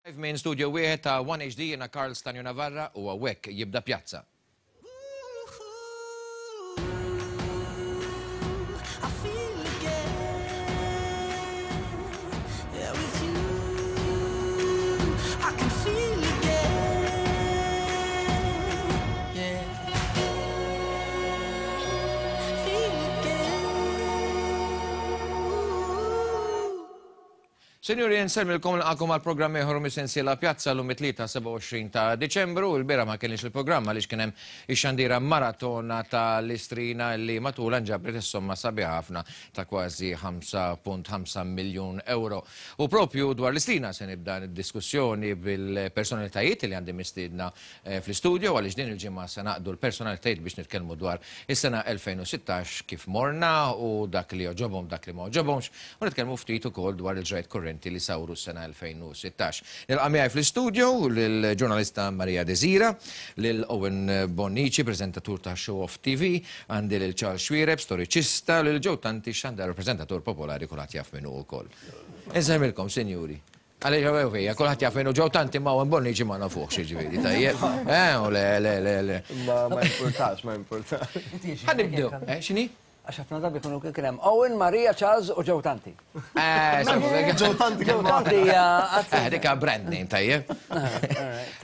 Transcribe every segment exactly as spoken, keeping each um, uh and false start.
Minn studio wieħed ta' One H D jiena Karl Stanju Navarra u hawnhekk jibda Pjazza. Sinjuri, nsellmilkom nilqakom għal programm ieħor mis-sensiela Pjazza llum it-tlieta sebgħa u għoxrin ta' Diċembru. Il-bieraħ ma kienx il-programm għaliex kien hemm ix-xandira maratona tal-Istrina li matulha nġabret is-somma sabiħa ħafna ta' kważi ħamsa punt ħamsa miljun euro. U propju dwar l-Istrina se nibda d-diskussjoni bil-personalitajiet li għandi mistiedna fl-istudio għaliex din il-ġimgħa se naqdu l-personalitajiet biex nitkellmu dwar is-sena elfejn u sittax kif morna u dak li oġobhom, dak li ma oġobhomx, u nitkellmu ftit ukoll dwar il-ġrajt kurrenti li sawru s-sena elfejn u sittax. Nilqa' miegħi fl-istudio lill-ġurnalista Maria Desira, lil Owen Bonnici, preżentatur ta' Show Off T V, għandi lil Charles Xuereb, storiċista, lil Joe Tanti, xandar preżentatur popolari kulħadd jaf minnu wkoll. Insemmilkom, sinjuri. Għaliex hawn fija, kulħadd jaf minnu Joe Tanti ma' Owen Bonnici ma nafuhx, jiġifieri, tajjeb. Eh, u le, le, le, le. Ma, ma importax, ma importax. Ħa nibdew. Eh, x'inhi? Għax ħafna drabi jkunu kien hemm Owen, Maria, Charles u Joe Tanti. Eh, Joe Tanti Joe Tanti hija qatt. Eh, dik brand name tajjeb.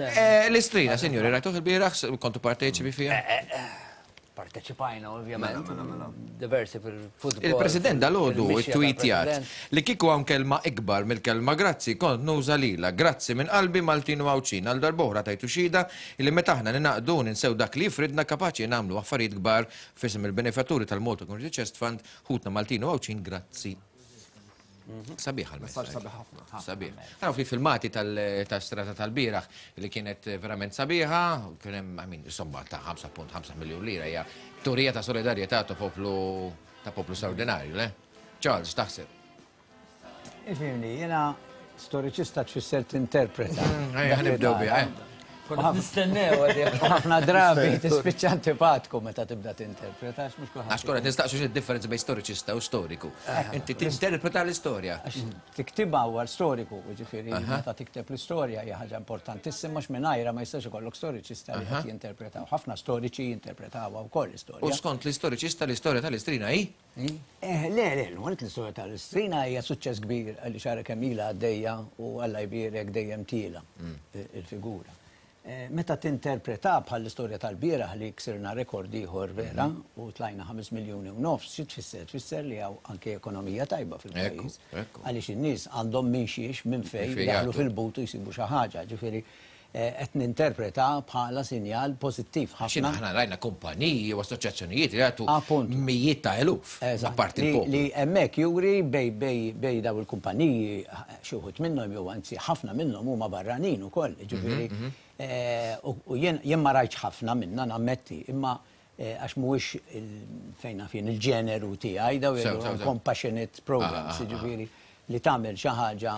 Eh, l-Istrina, sinjuri, rajtuh il-bieraħ, kontu parteċipi fiha? Parteċipajna, ovvjament. Diversi fil-futbol. Il-President dal-għodu fil-mixja tweetjat tal-President. li kieku hawn kelma ikbar mill-kelma grazzi, kont nuża lilha. Grazzi minn qalbi Maltin u Għawdxin. Għal darb'oħra tajtu xhieda li meta aħna ninaqdu ninsew dak li jifridna kapaċi nagħmlu affarijiet kbar f'isem il-benefatturi tal-Malta Community Chest Fund, ħutna Maltin u Għawdxin, grazzi. Sabiħ għal-messaġġ. Sabiħ ħafna. Sabiħ. Għaraw fi filmati tal-strata tal-bieraħ li kienet verament sabiħa, kien hemm, I mean, insomma, ta' ħamsa punt ħamsa miljun lira, hija turija ta' solidarjetà ta' poplu, ta' poplu straordinarju, le? Charles, taħseb? Ifimni, jiena storiċista tfisser tinterpreta. Mm, ejja, ħanibdew biha, eh. Konna nistennew għadi. Ħafna drabi tispiċċa antipatku meta tibda tinterpreta, għax mhux kulħadd Għax konna nistaqsu xi differenza bejn storiċista u storiku. Inti tinterpreta l-istorja. Għax tiktibha huwa storiku, jiġifieri meta tikteb l-istorja hija ħaġa importantissima għax mingħajrha ma jistax ikollok storiċista li qed jinterpretaw. Ħafna storiċi jinterpretawha wkoll l-istorja. U skont l-istoriċista l-istorja tal-Istrina hi? Eh, le, le, l-għonet l-istorja tal-Istrina hija suċċess kbir għalli xara kemm ilha għaddejja u Alla jbierek dejjem tiela il-figura. Eh, meta tinterpreta bħal l-istorja tal-bieraħ li ksirna rekord ieħor vera u tlajna ħames miljuni u nofs, xi tfisser? Tfisser li hawn anke ekonomija tajba fil-pajjiż. Ekku, ekku. Għaliex in-nies għandhom minn xiex, minn fejn Minn fejn daħlu jagħtu. fil-but u jsibu xi ħaġa. Ġifieri, eh, qed ninterpreta bħala sinjal pożittiv ħafna. X'inhu aħna rajna kumpaniji u assoċjazzjonijiet li jagħtu Appuntu. mijiet ta' eluf. Eżatt. Apparti Li- l-poplu. Li hemmhekk juri bej, bej, bej daw il-kumpaniji, xi wħud minnhom jew anzi ħafna minnhom huma barranin ukoll, ġifieri, Mhm, mhm. eh, u, u jien, jien ma rajtx ħafna minnha nammetti, imma, eh, għax mhuwiex il-, fejn naf jien il-ġeneru tiegħi, daw Sew, jgħidu sew, sew. compassionate programs, Ah, ah, ah. ġifieri li tagħmel xi ħaġa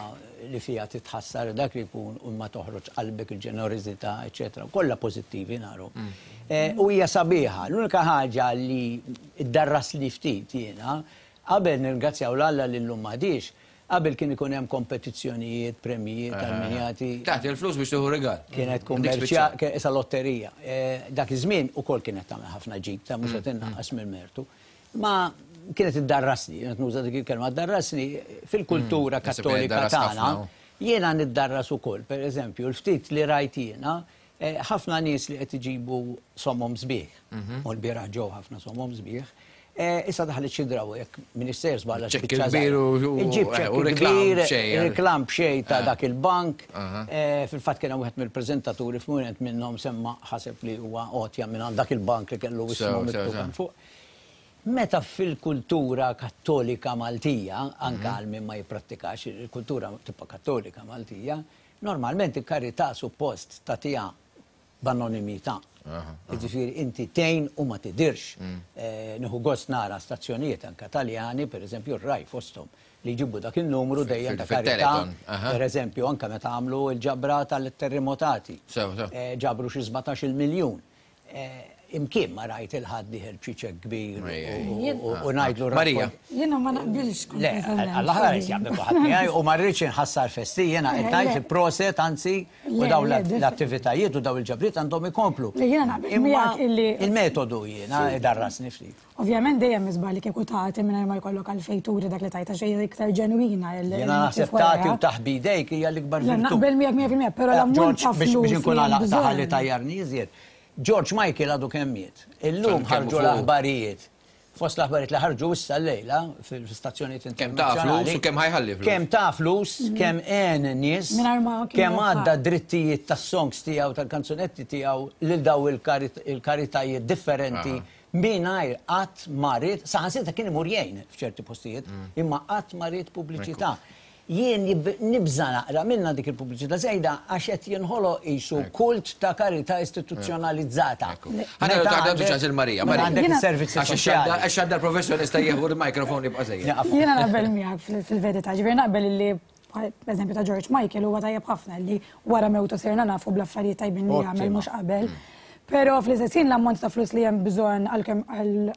li fiha titħassar dak li jkun u ma toħroġ qalbek il-ġenerożità, eċetera. Kollha pożittivi naru. Mm. Eh, u hija sabiħa. L-unika ħaġa li ddarras li ftit jiena, qabel nirringrazzjaw l-Alla li llum m'għadix, qabel kien ikun hemm kompetizzjonijiet, premijiet, Ah. alminjati. Tagħti l-flus biex tieħu rigal. Kienet Dik kummerċja, spiċċa. kien issa lotterija. Eh, dak iż-żmien ukoll kienet tagħmel ħafna ġid, ta' mhux qed Mm, innaqqas mill-mertu. Ma kienet iddarrasni, kienet nuża dik il-kelma, iddarrasni fil-kultura Mm, naħseb kienet kattolika iddarras tagħna. ħafna, u. Jiena niddarras ukoll, per eżempju, l-ftit li rajt jiena, eh, ħafna nies li qed iġibu somom sbieħ, Mhm. u l-bieraħ ġew ħafna somom sbieħ. Eh, issa daħlet xi draw jekk minister żballa Ċekk spiċċa kbir żgħira. u- u- Iġib eh, ċekk u reklam kbir, b'xejn. reklam b'xejn ta' Eh. dak il-bank. Aha. Eh, fil-fatt kien hemm wieħed mill-preżentaturi f'mument minnhom semma ħaseb li huwa għotja minn għand dak il-bank li kellu Sew, ismu sew, miktub sew. hemm fuq. Meta fil-kultura kattolika Maltija, anke Mhm. għal min ma jipprattikax il-kultura tibqa' kattolika Maltija, normalment il-karità suppost tagħtiha b'anonimità. Aha, Jiġifieri inti tgħin u ma tidirx. Mm. Eh, nieħu gost nara stazzjonijiet anke Taljani, per eżempju r-Rai fosthom, li jġibu dak il-numru dejjem ta' Fil- karità. fil-Teleton, aha. Per eżempju, anke meta għamlu l-ġabra tal-terremotati. Sew, sew. Eh, ġabru xi sbatax-il miljun. Eh, Imkien ma rajt il-ħadd dieħel b'xi ċekk kbir u ngħidlu. Marija. Jiena ma naqbilx. Le, għall-aħħar jaqbel kulħadd miegħi u ma rridx inħassar festi, jiena qed ngħid proset anzi u dawn l-attivitajiet u dawn il-ġabriet għandhom ikomplu. Jiena naqbel miegħek illi il-metodu jiena darrasni ftit. Ovvjament dejjem iżbal li kieku tagħti mingħajr ma jkollok għalfejn turi dak li tajta xejn iktar ġenwina. Jiena naħseb tagħti u taħbi idejk hija l-ikbar virtù. Naqbel miegħek mija fil-mija, però l-ammont ta' flus. Biex inkun għalaqta ħalli tajjarni iżjed. George Michael għadu kemm miet. Illum ħarġu l-aħbarijiet. Fost l-aħbarijiet li ħarġu issa llejla fil-stazzjonijiet internazzjonali. Kemm ta' flus u kemm ħajħalli flus. Kemm ta' flus, kemm għen nies, kemm għadda drittijiet tas-songs tiegħu, tal-kanzunetti tiegħu lil daw il-karitajiet differenti mingħajr qatt ma ried, saħansitra kien imur jgħin f'ċerti postijiet, imma qatt ma ried pubbliċità. Jien nibża naqra minna dik il-pubbliċità żejda għax qed jinħoloq qisu kult ta' karità istituzzjonalizzata. Ħa nagħtu ċans il Marija. Marija għandek is-servizzi soċjali. Għax għandha l-professjonista jieħu l-mikrofon jibqa' żejjed. Jiena naqbel miegħek fil-verità, ġifieri naqbel illi eżempju ta' George Michael huwa tajjeb ħafna li wara mewtu sirna nafu bl-affarijiet tajbin li jagħmel mhux qabel. Però fl-istess ħin l-ammont ta' flus li hemm bżonn għal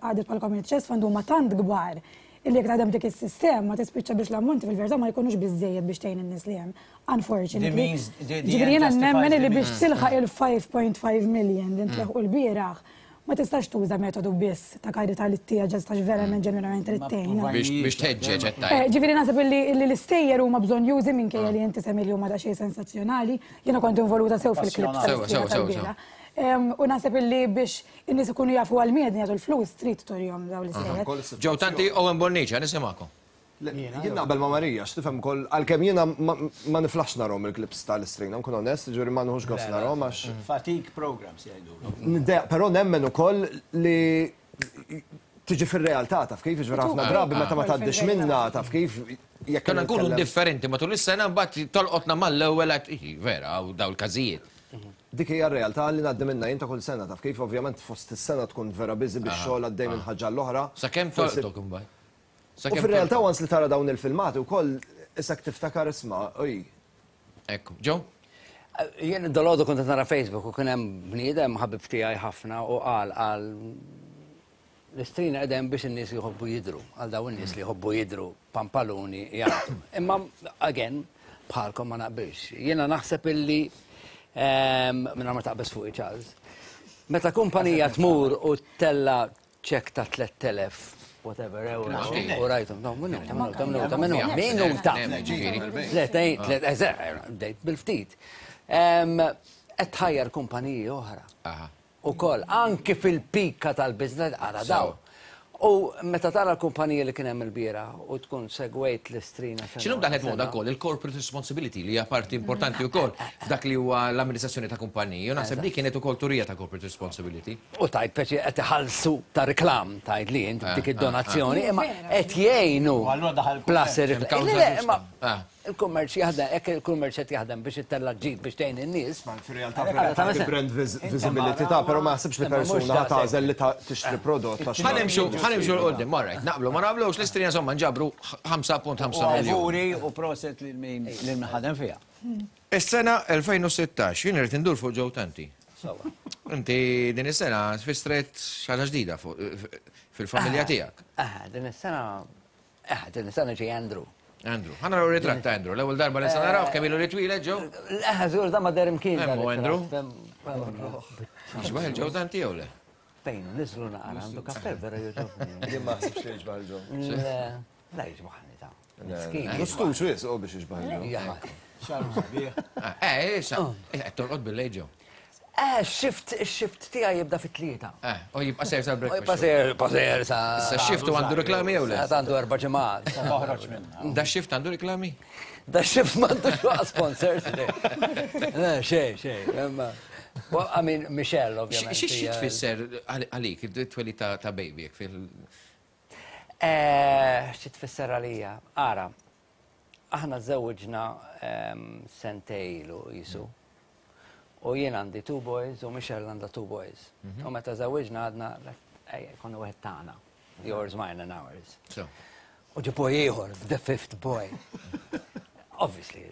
għadet bħal Community Chest Fund huma tant kbar illi jekk taħdem dik is-sistema tispiċċa biex l-ammonti fil-verità ma jkunux biżejjed biex tgħin in-nies li hemm. Unfortunately. Ġifieri jiena nemmen li biex tilħaq il-five point five million li ntlaħqu l-bieraħ ma tistax tuża metodu biss ta' karità li tija ġestax verament ġenwinament li tgħin. Biex tħeġġeġ qed tgħid. Ġifieri naħseb illi l-istejjer huma bżonn jużi minkejja li inti semmi li huma daqsxejn sensazzjonali, jiena kont involuta sew fil-klips tal-bieraħ. U naħseb illi biex in-nies ikunu jafu għal miedni jagħtu l-flus trid turihom dawn l-istejjer. Joe Tanti, Owen Bonnici, nisimgħakom. Jien naqbel ma' Marija, x'tifhem ukoll għalkemm jiena ma niflaħx narhom il-klips tal-istrina, nkun onest, ġifieri ma nħux gost narhom għax. Fatigue programs jgħidulhom. Però nemmen ukoll li tiġi fir-realtà taf kif, ġifieri ħafna drabi meta ma tgħaddix minna taf kif. Konna nkunu indifferenti matul is-sena mbagħad tolqotna mal-ewwel qed vera daw il-każijiet. Dik hija r-realtà li ngħaddi minnha jien ta' kull sena taf kif, ovvjament fost is-sena tkun vera busy bix-xogħol għaddej minn ħaġa l-oħra. Sakemm tolqtok imbagħad. U fir-realtà once li tara dawn il-filmati wkoll isek tiftakar isma' oj. Ekku, Joe? Jien dolodu kont qed nara Facebook u kien hemm bniedem ħabib tiegħi ħafna u qal għal l-istrina qegħdem biex in-nies jħobbu jidhru, għal dawn in-nies li jħobbu jidhru pampaluni jagħtu. Imma again bħalkom ma naqbilx. Jiena naħseb illi minna ma taqbes fuq Charles. Meta kumpanija tmur u tella ċek ta' tliet elef, whatever, euro, u rajtum, no, minuta, minuta, minuta, minuta, minuta. Tlet, tlet, bdejt bil-ftit. Qed tħajjar kumpaniji oħra. Ukoll, anki fil-pika tal-business, ara daw. U meta tara l-kumpanija li kien hemm il-biera u tkun segwejt l-istrina. X'inhu daħlet moda wkoll il-corporate responsibility li hija parti importanti wkoll f'dak li huwa l-amministrazzjoni ta' kumpaniji. U naħseb li kienet ukoll turija ta' corporate responsibility. U tajt peċi qed iħallsu ta' reklam tajt li int dik id-donazzjoni, imma qed jgħinu plus ir-reklam. Il-kummerċ jaħdem, hekk il-kummerċ qed jaħdem biex ittella' ġid biex tgħin in-nies. Fir-realtà fir-realtà brand visibility ta' però ma naħsibx li persuna tagħżel li tixtri prodott. Ħa nimxu 'l quddiem, all right, naqblu ma naqblux l-istrina insomma nġabru ħamsa punt ħamsa miljun. Awguri u proset lil min lil min ħadem fiha. Is-sena elfejn u sittax, jien irid indur fuq Joe Tanti. Inti din is-sena tfissret xi ħaġa ġdida fil-familja tiegħek. Ah, din is-sena, ah, din is-sena ġej Andrew. Andrew, ħa naraw ritratt ta' Andrew, l-ewwel darba li se naraw kemm ilu li twieled Joe? Eh, żgur da ma deher imkien. Hemm Andrew. Jixbah il-Joe Tanti jew le? Fejn, niżlu naqra, għandu kappell vera jogħġobni. Jien ma ħsibx li jixbah il-Joe. La jixbahni ta'. Miskin. Mustux wisq biex jixbah il-Joe. Xaru sabiħ. Eh, issa, qed torqod bil-lejl Joe. Eh, shift, shift tiegħi jibda fit-tlieta. Eh, u jibqa' sejr sal-breakfast. Jibqa' sejr, jibqa' sejr sa. Issa shift u għandu reklami jew le? Għandu erba' ġimgħat. Toħroġ minnha. Da shift għandu reklami? Da shift m'għandux waqas sponsors. Le, xejn, xejn. Well, I mean, Michelle, ovvjament. Xi tfisser għalik it-twelid ta' baby jekk fil. Eh, xi tfisser għalija? Ara, aħna żewġna sentejlu jisu. U jien għandi two boys u Michelle għandha two boys. U meta żewġna għadna, ejja, konna wieħed tagħna. Yours, mine and ours. U ġi boy ieħor, the fifth boy. Obviously,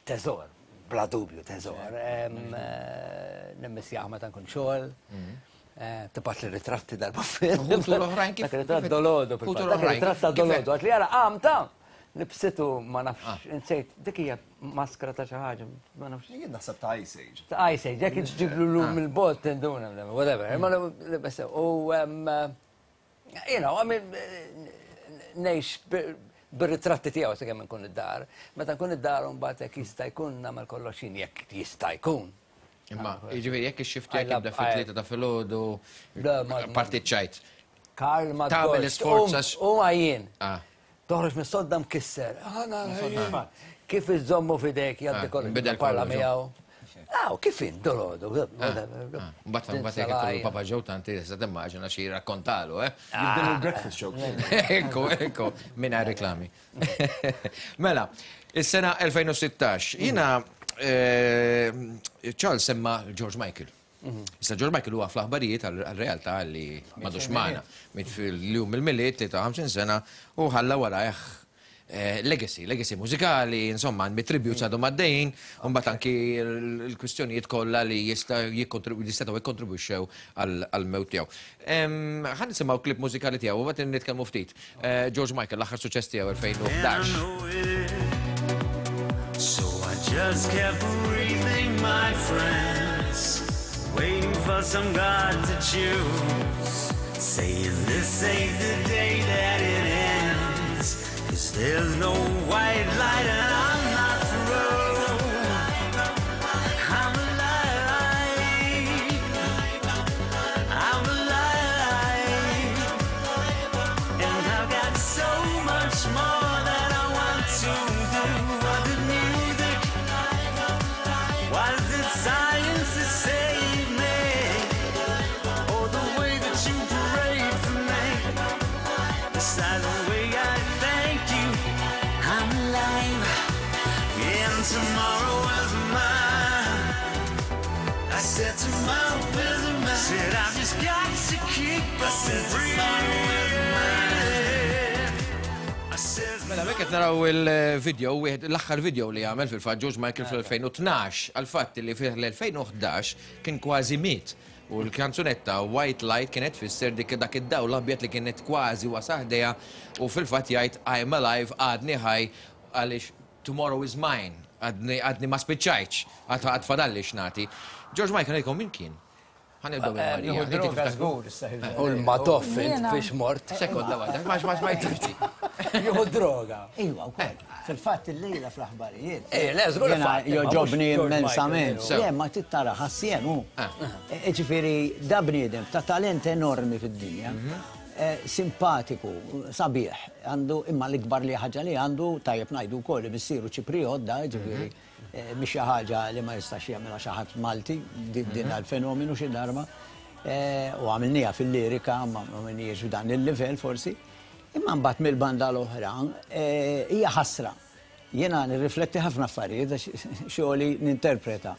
teżor, bla dubju teżor. Nimmissjaħ meta nkun xogħol. Tibgħat li ritratti darba fil. Ħutu l-oħrajn kif? Dak ritratt dolodu. Dak ritratt ta' dolodu. Għat li jara għamta. Nibsitu ma nafx, insejt, dik hija maskra ta' xi ħaġa, ma nafx. Jien naħseb ta' Ice Age. Ta' Ice Age, jekk iġġiblu l mill-bot tinduna, whatever. Ma u, you know, I mean, ngħix bir-ritratti tiegħu sakemm nkun id-dar. Meta nkun id-dar mbagħad jekk jista' jkun nagħmel kollox jien jekk jista' jkun. Imma, jiġifieri jekk ix-shift tiegħek jibda fit-tlieta ta' filgħodu, parti ċajt. Karl ma tagħmel isforz U għajjien. Toħroġ mis-sodda mkisser. Kif iżommu f'idejk jgħaddi kollu parla miegħu. Aw, kif in dolodu. Mbagħad mbagħad jekk ikollu Papa Joe tanti tista' timmaġina xi jirrakkontalu, eh? Jibdelu l-breakfast show. Ekku, ekku, mingħajr reklami. Mela, is-sena elfejn u sittax, jiena Charles semma George Michael. Issa George Michael huwa fl-aħbarijiet għal-realtà li m'għadux magħna. Miet fil-jum il-Milied tlieta u ħamsin sena u ħalla warajh legacy, legacy mużikali, insomma, mit-tributes għadhom għaddejjin, u mbagħad anki l-kwistjonijiet kollha li jistgħu jikkontribwixxew għall-mewt tiegħu. Ħa nisimgħu klip mużikali tiegħu u mbagħad nitkellmu ftit. George Michael, l-aħħar suċċess tiegħu elfejn u ħdax. So I just kept breathing, my friends, waiting for some God to choose, saying this ain't the day that it ends, 'cause there's no white light and I'm not through. I'm alive, I'm alive, and I've got so much more that I want to do. Was it music? Was it science that saved me? Or the way that you prayed for me? It's the way I thank you, I'm alive, and tomorrow is mine. I said tomorrow is mine. Said I've just got to keep on breathing. I said Mela, mek qed naraw il-video, wieħed l-aħħar video li għamel fil-fatt George Michael fl-elfejn u tnax, għal-fatt li fil-elfejn u ħdax kien kważi miet. U l-kanzunetta White Light kienet tfisser dik dak id-dawl l-abjad li kienet kważi wasaħdejha u fil-fatt jgħid I'm alive, għadni ħaj, għaliex tomorrow is mine, għadni ma spiċċajtx, għad fadalli x'nagħti. George Michael ngħidkom min kien? Ħa nibdew minn Marija. Nieħu droga żgur issa. U l-Madoff int Jiena. fiex mort. Sekonda waħda, ma ma ma jtixti. Jieħu droga. Iwa, wkoll. Fil-fatt il-lejla fl-aħbarijiet. Eh, le, żgur Jiena fatt, imma mhux joġobni George immensament. Michael. Le, ma tittara ħassien hu. Ġifieri, da bniedem ta' talent enormi fid-dinja. Simpatiku, sabiħ, għandu imma l-ikbar li ħaġa li għandu, tajjeb ngħidu wkoll li missieru Ċipriot da, ġifieri, mhix xi ħaġa li ma jistax jagħmilha xi ħadd Malti, din għal-fenomenu xi darba. U għamilniha fil-lirika, ma għamilniex f'dan il-livell forsi. Imma mbagħad mill-banda l-oħra hija ħasra. Jiena nirrifletti ħafna affarijiet għax xogħli ninterpreta.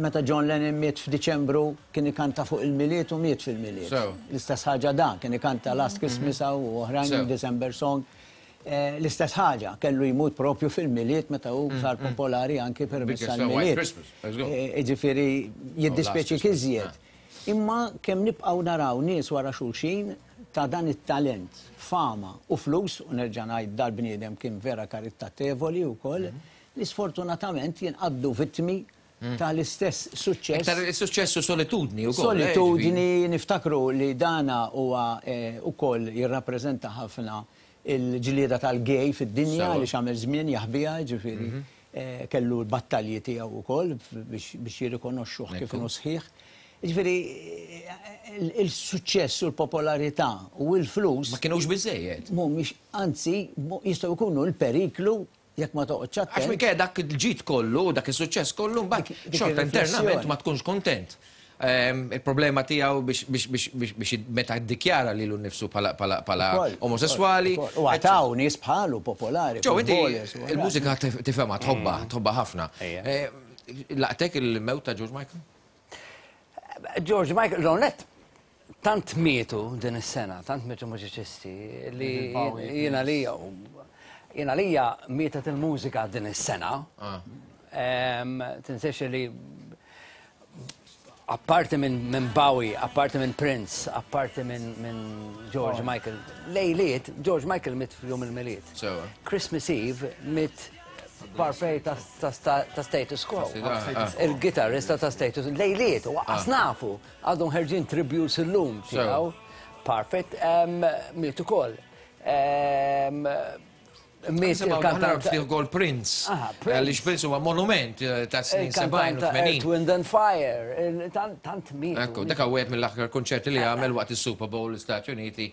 Meta John Lennon miet f'Diċembru kien ikanta fuq il-Milied u miet fil-Milied. L-istess ħaġa dan, kien ikanta Last Christmas u oħrajn December Song. L-istess ħaġa, kellu jmut propju fil-Milied meta hu sar popolari anki permezz tal-Milied. Ġifieri jiddispjaċi iżjed. Imma kemm nibqgħu naraw nies wara xulxin ta' dan it-talent, fama u flus, u nerġa' ngħid dal-bniedem kien vera karitatevoli wkoll, li sfortunatament jinqabdu vittmi tal-istess suċċess. Iktar is-suċċess u solitudni wkoll. Solitudni, niftakru li dana huwa wkoll jirrappreżenta ħafna il-ġlieda tal-gay fid-dinja li x'għamel żmien jaħbiha, ġifieri kellu l-battalji tiegħu wkoll biex jirrikonoxxuh kif inhu sħiħ. Ġifieri, il-suċċess u l-popolarità u l-flus. Ma kienux biżejjed. Mhumiex, anzi, jistgħu jkunu l-periklu jekk ma toqgħodx attent. Għax minkejja dak il-ġid kollu, dak is-suċċess kollu, mbagħad xorta internament ma tkunx kontent. Il-problema tiegħu biex meta ddikjara lilu nnifsu bħala omosessuali. U għataw nies bħalu popolari. Ġew, inti il-mużika tifhemha, tħobbha, tħobbha ħafna. Laqtek il-mewt ta' George Michael? George Michael, l-onet, tant mietu din is-sena, tant mietu mużiċisti li jiena li jiena lija mietet il-mużika din is-sena. Tinsiex li Apparti minn Bowie, apparti minn Prince, apparti minn George Michael. Lejliet, George Michael miet f'jum il-Milied. Christmas Eve miet Parfait ta' Status Quo. Il-gitarrista ta' Status. Lejliet, u nafu, għadhom ħerġin tributes illum tiegħu. Parfait miet ukoll. Miet il-kantant. Gol Prince. Għaliex Prince huwa monument ta' snin sebgħin u tmenin. Earth, Wind and Fire. Tant miet. Ekku, dak wieħed mill-aħħar konċerti li għamel waqt il-Super Bowl l-Istati Uniti,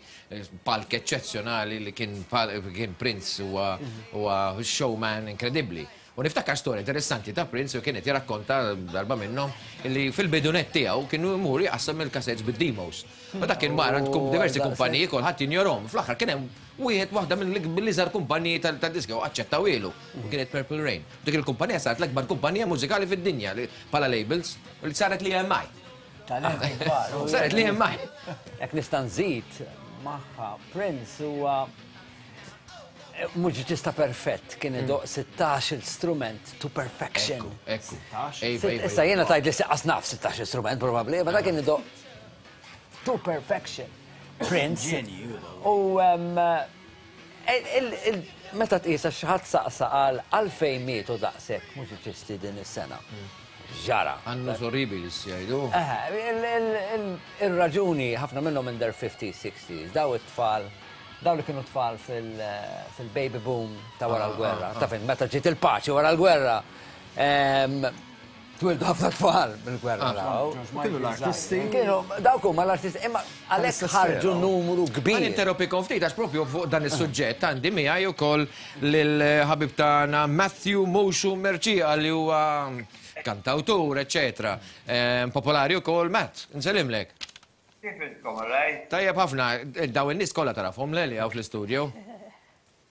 palk eċċezzjonali li kien Prince huwa showman inkredibbli. U niftakar storja interessanti ta' Prince u kienet jirrakkonta darba minnhom li fil-bidu nett tiegħu kienu jmur jqassam il-cassettes bid-demos. U dak kien mara tkun diversi kumpaniji, kulħadd jinjorahom. Fl-aħħar kien hemm wieħed waħda mill-iżgħar kumpaniji tad-diska u aċċettawhielu. U kienet Purple Rain. Dik il-kumpanija saret l-akbar kumpanija mużikali fid-dinja bħala labels u li saret l-E M I. Saret l-E M I. Jekk nista' nżid magħha, Prince huwa mużiċista perfett, kien idoqq sittax instrument to perfection. Ekku. Issa jiena tgħid li lanqas naf sittax instrument probabbli, ma dak kien idoqq to perfection. Prince. U meta tqisa xi ħadd saqsa għal għalfejn mietu daqshekk mużiċisti din is-sena. Ġara. Annus horribilis jgħidu. Il-raġuni ħafna minnhom in their fifties, sixties, daw it-tfal, daw li kienu tfal fil-baby boom ta' wara l-gwerra. Ta' fin, meta ġiet il-paċi wara l-gwerra. Twildu ħafna tfal mill-gwerra daw. Kienu l-artisti. Kienu, dawk huma l-artisti, imma għalhekk ħarġu numru kbir. Ħa ninterrompikom ftit għax propju fuq dan is-suġġett għandi miegħi wkoll lill-ħabib tagħna Matthew Moshu Mercieca li huwa kantawtur, eċetera. Popolari wkoll. Matt, nsellimlek. Kif intkom, alright? Tajjeb ħafna, daw in-nies kollha tarafhom le li hawn fl-istudio.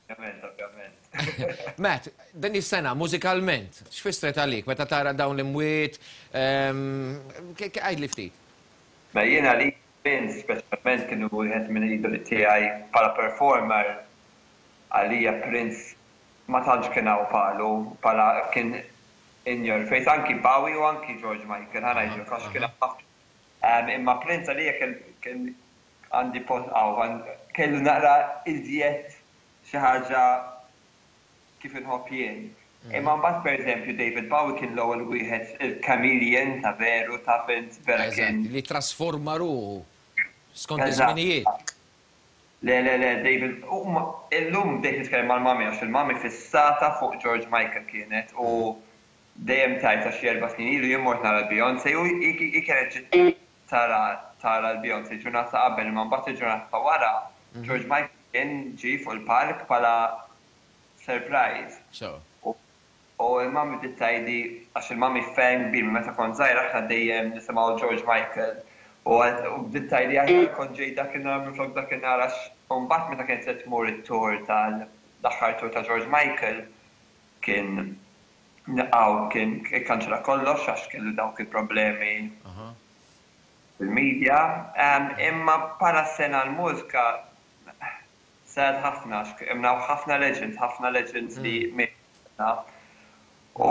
Ovvjament, ovvjament. Matt, din is-sena mużikalment, x'fissret għalik meta tara dawn l-imwiet, għidli ftit? Ma jiena li Prince speċjalment kienu wieħed minn idoli tiegħi bħala performer. Għalija Prince ma tantx kien hawn bħalu, bħala kien in your face, anki Bowie u anki George Michael, ħa ngħidu, għax kien ħafna. Imma Prince għalija kien għandi post għaw, kellu naqra iżjed xi ħaġa kif inħobb jien. Imma mbagħad, pereżempju, David Bowie kien l-ewwel wieħed il-chameleon ta' veru, ta' fint vera kien. Li trasforma ruħu skont iż-żminijiet. Le, le, le, David, illum bdejt nitkellem mal-mami għax il-mami fissata fuq George Michael kienet u dejjem tajt għax erba' snin ilu jien mort nara l-Beyoncé u i kienet ġiet tara tara l-Beyoncé ġurnata qabel, imma mbagħad il-ġurnata ta' wara George Michael kien ġie fuq il-park bħala surprise. So. U il-mami bdiet tgħidli, għax il-mami fan kbir, meta kont żgħir aħna dejjem nisimgħu George Michael. U bdiet tgħidli aħjar kont ġej dakinhar minflok dakinhar, għax mbagħad meta kienet se tmur it-tour tal-aħħar tour ta' George Michael kien naqaw, kien ikkanċella kollox għax kellu dawk il-problemi fil-media. Imma bħala sena l-mużika sad ħafna, imma ħafna legends, ħafna legends li mietna. U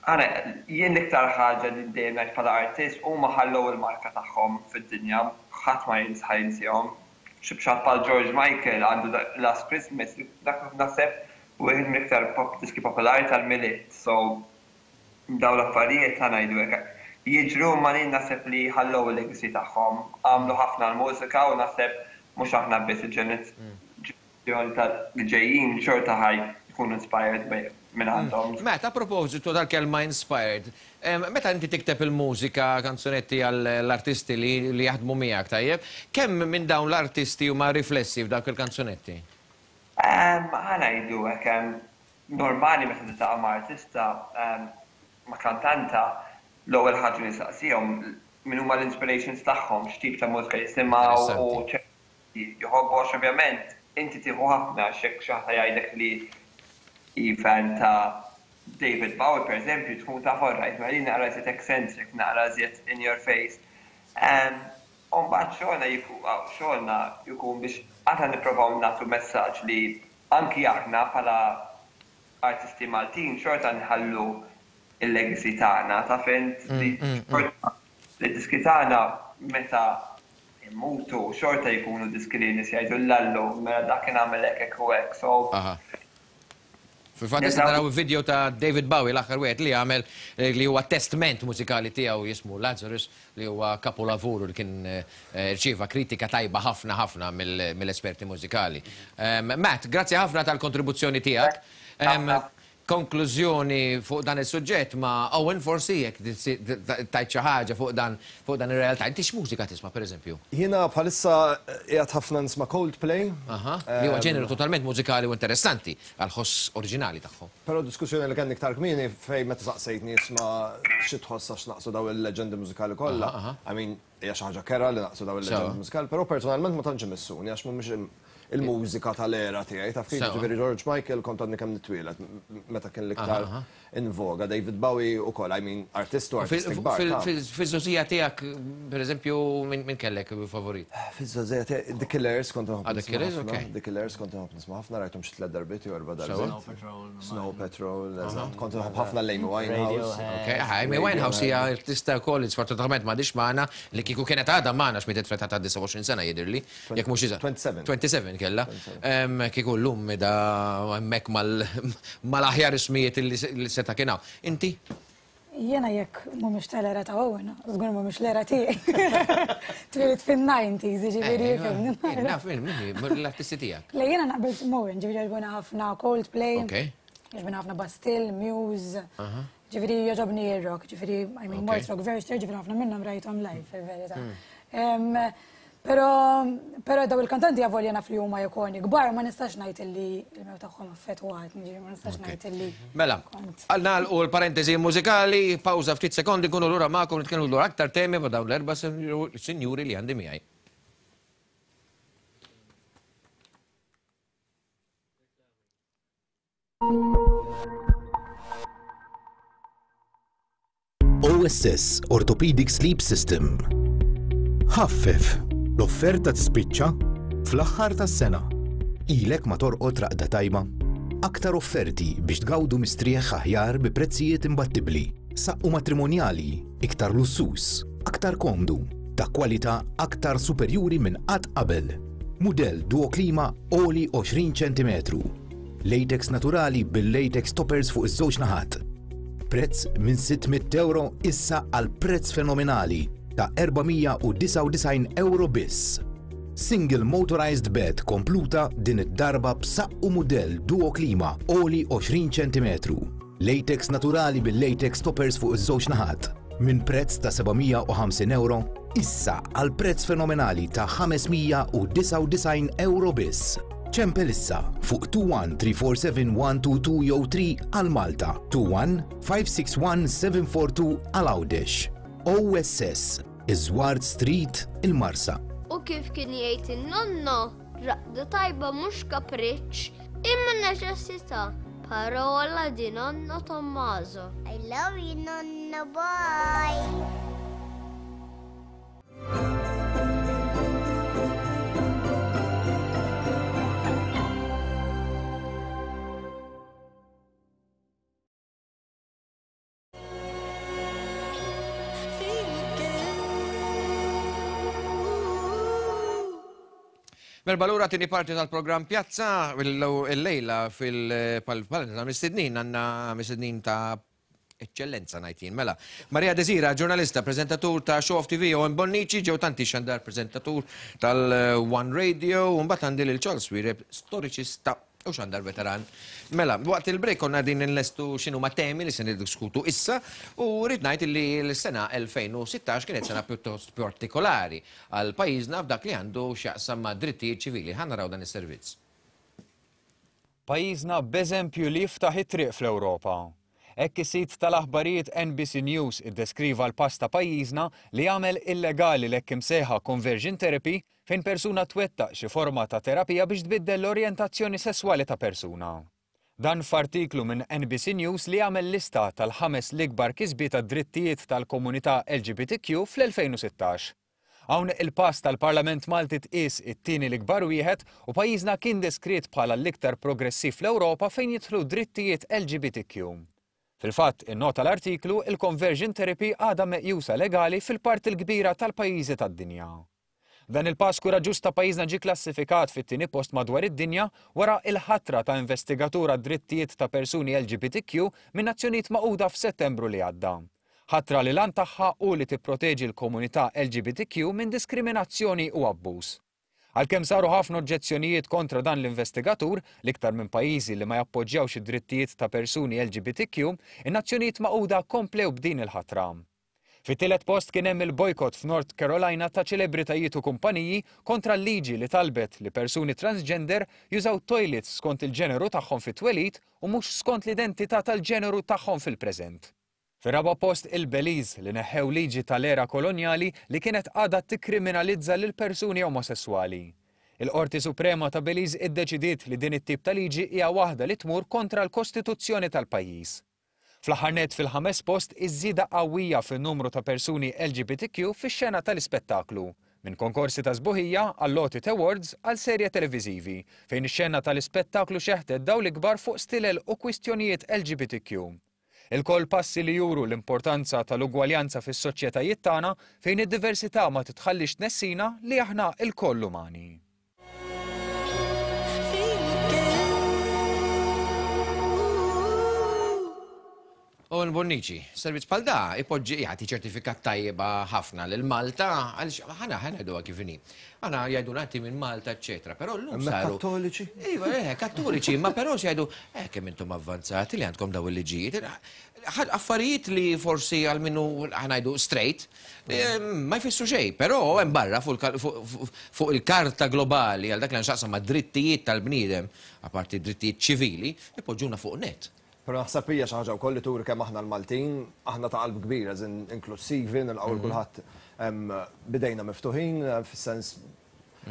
għana, jien l-iktar ħaġa li dejjem ngħid bħala artist, huma ħallew il-marka tagħhom fid-dinja, ħadd ma jinsihom. Xi bxat bħal George Michael għandu Last Christmas, dak naħseb wieħed mill-iktar pop diski popolari tal-Milied. So daw l-affarijiet, ħa ngħidu hekk, jiġru ma li naħseb li ħallew il-legacy tagħhom, għamlu ħafna l-mużika u naħseb mhux aħna biss, il-ġenerazzjoni tal-ġejjin xorta ħa jkunu inspired minn għandhom. Meta, a propositu tal-kelma inspired, meta inti tikteb il-mużika, kanzunetti għall-artisti li jaħdmu miegħek, tajjeb, kemm minn dawn l-artisti huma riflessi f'dawk il-kanzunetti? Ħa ngħidu hekk, normali meta tiltaqa' ma' artista, ma' kantanta, l-ewwel ħaġa li saqsihom min huma l-inspirations tagħhom, x'tip ta' mużika jisimgħu u jħobbu, għax ovvjament inti tieħu ħafna xek xi ħadd jgħidlek li hi fan ta' David Bowie, per eżempju, tkun ta' alright, ma li naqra iżjed eccentric, naqra iżjed in your face. Umbagħad xogħolna xogħolna jkun biex aħna nippruvaw nagħtu messaġġ li anki aħna bħala artisti Maltin xorta nħallu il-legacy tagħna, taf int li li diski tagħna meta immutu xorta jkunu diski li nies jgħidu l-lallu mela dak kien għamel hekk hekk u hekk. So Fil-fatt issa naraw video ta' David Bowie l-aħħar wieħed li għamel li huwa testament mużikali tiegħu jismu Lazarus li huwa kapolavuru li kien rċieva kritika tajba ħafna ħafna mill-esperti mużikali. Matt, grazzi ħafna tal-kontribuzzjoni tiegħek. Konklużjoni fuq dan is-suġġett ma' Owen forsi jekk tajt xi ħaġa fuq dan fuq dan ir-realtà. Inti x'mużika tisma' pereżempju? Jiena bħalissa qiegħed ħafna nisma' Coldplay. Aha, li huwa ġeneru totalment mużikali u interessanti għall-ħoss oriġinali tagħhom. Però diskussjoni li kellni iktar kmieni fejn meta saqsejtni isma' xi tħoss għax naqsu daw il-leġendi mużikali kollha. I mean, hija xi ħaġa kera li naqsu daw il-leġendi mużikali, però personalment ma tantx imissuni għax mhumiex il-mużika tal-era tiegħi, taf kif ġifieri George Michael kont għadni kemm nitwieled meta kien l-iktar in voga, David Bowie ukoll, I mean, artist u artist kbar. Fiż-żgħożija tiegħek, pereżempju, min kellek favorit? Fiż-żgħożija tiegħi, The Killers kont inħobb nisma' ħafna. The Killers kont inħobb nisma' ħafna, rajthom xi tliet darbiet jew erba' darbiet. Snow Patrol. Snow Patrol, eżatt. Kont inħobb ħafna l-Amy Winehouse. Ok, Amy Winehouse hija artista wkoll li sfortunatament m'għadix magħna li kieku kienet għadha magħna x'mietet fl-età ta' disgħa u għoxrin sena jidhirli, jekk mhux iżgħar. twenty-seven kella. Kieku llum da hemmhekk mal-aħjar ismijiet li seta' kien hawn. Inti? Jiena jekk mhumiex tal-era ta' Owen, żgur mhumiex l-era tiegħi. Twieled fin-nineties, jiġifieri fimni. Naf min l-artisti tiegħek. Le jiena naqbel Owen, ġifieri jogħġbuni ħafna Coldplay. Jogħġbuni ħafna Bastille, Muse. Ġifieri jogħġobni r-rock, ġifieri I mean mort rock Werchter, ġifieri ħafna minnhom rajthom live fil-verità. Però però daw il-kantanti avolja naf li huma ikoni kbar, ma nistax ngħid illi l-mew tagħhom affettwat, ġifieri ma nistax ngħid illi. Mela, nagħlqu l-parentesi mużikali, pawża ftit sekondi, nkunu lura magħkom nitkellmu dwar aktar temi ma' dawn l-erba' sinjuri li għandi miegħi. O S S Orthopedic Sleep System. Ħaffef. L-offerta tispiċċa fl-aħħar tas-sena. Ilek ma torqod raqda tajba. Aktar offerti biex tgawdu mistrieħ aħjar bi prezzijiet imbattibbli. Saqqu matrimonjali, iktar lussus, aktar komdu, ta' kwalità aktar superjuri minn qatt qabel. Mudell Duo Klima għoli għoxrin ċentimetru. Latex naturali bil-latex toppers fuq iż-żewġ naħat. Prezz minn sitt mitt euro issa għal prezz fenomenali ta' erba' mija u disgħa u disgħin euro biss. Single motorized bed kompluta din id-darba b'saqqu mudell Duo Klima għoli għoxrin ċentimetru. Latex naturali bil-latex toppers fuq iż-żewġ naħat. Minn prezz ta' seba' mija u ħamsin euro issa għal prezz fenomenali ta' ħames mija u disgħa u disgħin euro biss. Ċempel issa fuq two one three four seven one two two jew three għal Malta, two one five six one seven four two għal Għawdex. O S S, Iżward Street, il-Marsa. U kif kien jgħid in-nonno, raqda tajba mhux kapriċċ, imma neċessità. Parola di nonno Tommaso. I love you, nonno, bye. Merba lura tieni parti tal-programm Pjazza, il-lejla fil-palenta mistednin, għandna mistednin ta' eċċellenza ngħid jien. Mela, Maria Desira, ġurnalista, preżentatur ta' Show Off T V, Owen Bonnici, ġew tanti xandar preżentatur tal-One Radio, u mbagħad għandi lil Charles Xuereb, storiċista u xandar veteran. Mela, waqt il-break konna din nlestu x'inhu ma' temi li se niddiskutu issa, u rrid ngħid li l-sena elfejn u sittax kienet sena pjuttost partikolari għal pajjiżna f'dak li għandu x'jaqsam ma' drittijiet ċivili. Ħa naraw dan is-servizz. Pajjiżna b'eżempju li jiftaħ it-triq fl-Ewropa. Hekk is-sit tal-aħbarijiet N B C News iddeskriva l-pass ta' pajjiżna li jagħmel illegali l-hekk imsejħa conversion therapy fejn persuna twettaq xi forma ta' terapija biex tbiddel l-orjentazzjoni sesswali ta' persuna. Dan f'artiklu minn N B C News li jagħmel lista tal-ħames l-ikbar kisbiet tad-drittijiet tal-komunità L G B T Q fl-elfejn u sittax. Hawn il-pass tal-Parlament Malti tqies it-tieni l-ikbar wieħed u pajjiżna kien deskritt bħala l-iktar progressiv fl-Ewropa fejn jidħlu drittijiet L G B T Q. Fil-fatt, innota l-artiklu, il-conversion therapy għadha meqjusa legali fil-parti l-kbira tal-pajjiżi tad-dinja. Dan il-pass kuraġġuż ta' pajjiżna ġie klassifikat fit-tieni post madwar id-dinja wara il-ħatra ta' investigatur għad-drittijiet ta' persuni L G B T Q minn Nazzjonijiet Magħquda f'Settembru li għadda. Ħatra li l-għan tagħha hu li tipproteġi l-komunità L G B T Q minn diskriminazzjoni u abbuż. Għalkemm saru ħafna oġġezzjonijiet kontra dan l-investigatur, l-iktar minn pajjiżi li ma jappoġġjawx id-drittijiet ta' persuni L G B T Q, in-Nazzjonijiet Magħquda komplew b'din il-ħatra. Fit-tielet post kien hemm il-bojkott f'North Carolina ta' ċelebritajiet u kumpaniji kontra l-liġi li talbet li persuni transgender jużaw toilets skont il-ġeneru tagħhom fit-twelid u mhux skont l-identità tal-ġeneru tagħhom fil-preżent. Fir-raba' post, il-Belize, li neħħew liġi tal-era kolonjali li kienet għadha tikkriminalizza lil persuni omosessuali. Il-Qorti Suprema ta' Belize iddeċidiet li din it-tip ta' liġi hija waħda li tmur kontra l-Kostituzzjoni tal-pajjiż. Fl-aħħar nett, fil-ħames post, iż-żieda qawwija fin-numru ta' persuni L G B T Q fix-xena tal-ispettaklu. Minn konkorsi ta' sbuħija għall-għoti awards għal serje televiżivi, fejn ix-xena tal-ispettaklu xeħtet dawl ikbar fuq stilel u kwistjonijiet L G B T Q. Ilkoll passi li juru l-importanza tal-ugwaljanza fis-soċjetajiet tagħna, fejn id-diversità ma titħallix tnessina li aħna lkoll umani. Owen Bonnici, servizz bħal da ipoġġi, jagħti ċertifikat tajjeba ħafna lil Malta, għaliex ħana ħana jgħiduha kif inhi. Aħna jgħiduna inti minn Malta, eċetera, però llum Hemmhekk saru. Kattoliċi? Iva, eh, kattoliċi, ma però se jgħidu, eh, kemm intom avvanzati li għandkom daw il-liġijiet. Affarijiet li forsi għal minnu ħa ngħidu straight, eh, ma jfissru xejn, però hemm barra fuq fuq il-karta globali għal dak li nxaqsam ma' drittijiet tal-bniedem, apparti drittijiet ċivili, ipoġġuna fuq net. Però naħseb hija xi ħaġa wkoll li turi kemm aħna l-Maltin, aħna ta' qalb kbira, żin inklusivi, nilqgħu kulħadd bidejna miftuħin, fis-sens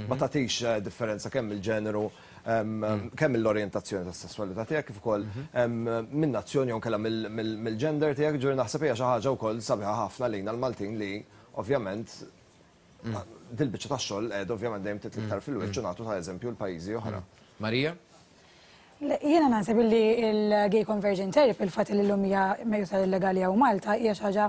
ma tagħtix eh, differenza kemm il-ġeneru, kemm l-orjentazzjoni tas-sesswalità tiegħek, kif ukoll minn nazzjoni jew kellha mill-gender tiegħek, ġuri naħseb hija xi ħaġa wkoll sabiħa ħafna lejna l-Maltin li ovvjament dil-biċċa tax-xogħol qed ovvjament dejjem titla' iktar fil-wiċċ u nagħtu ta' eżempju l-pajjiżi oħra. Marija? Jiena naħseb li il-gay conversion therapy, il-fatt li l-lum hija meqjusa illegali hawn Malta, hija xi ħaġa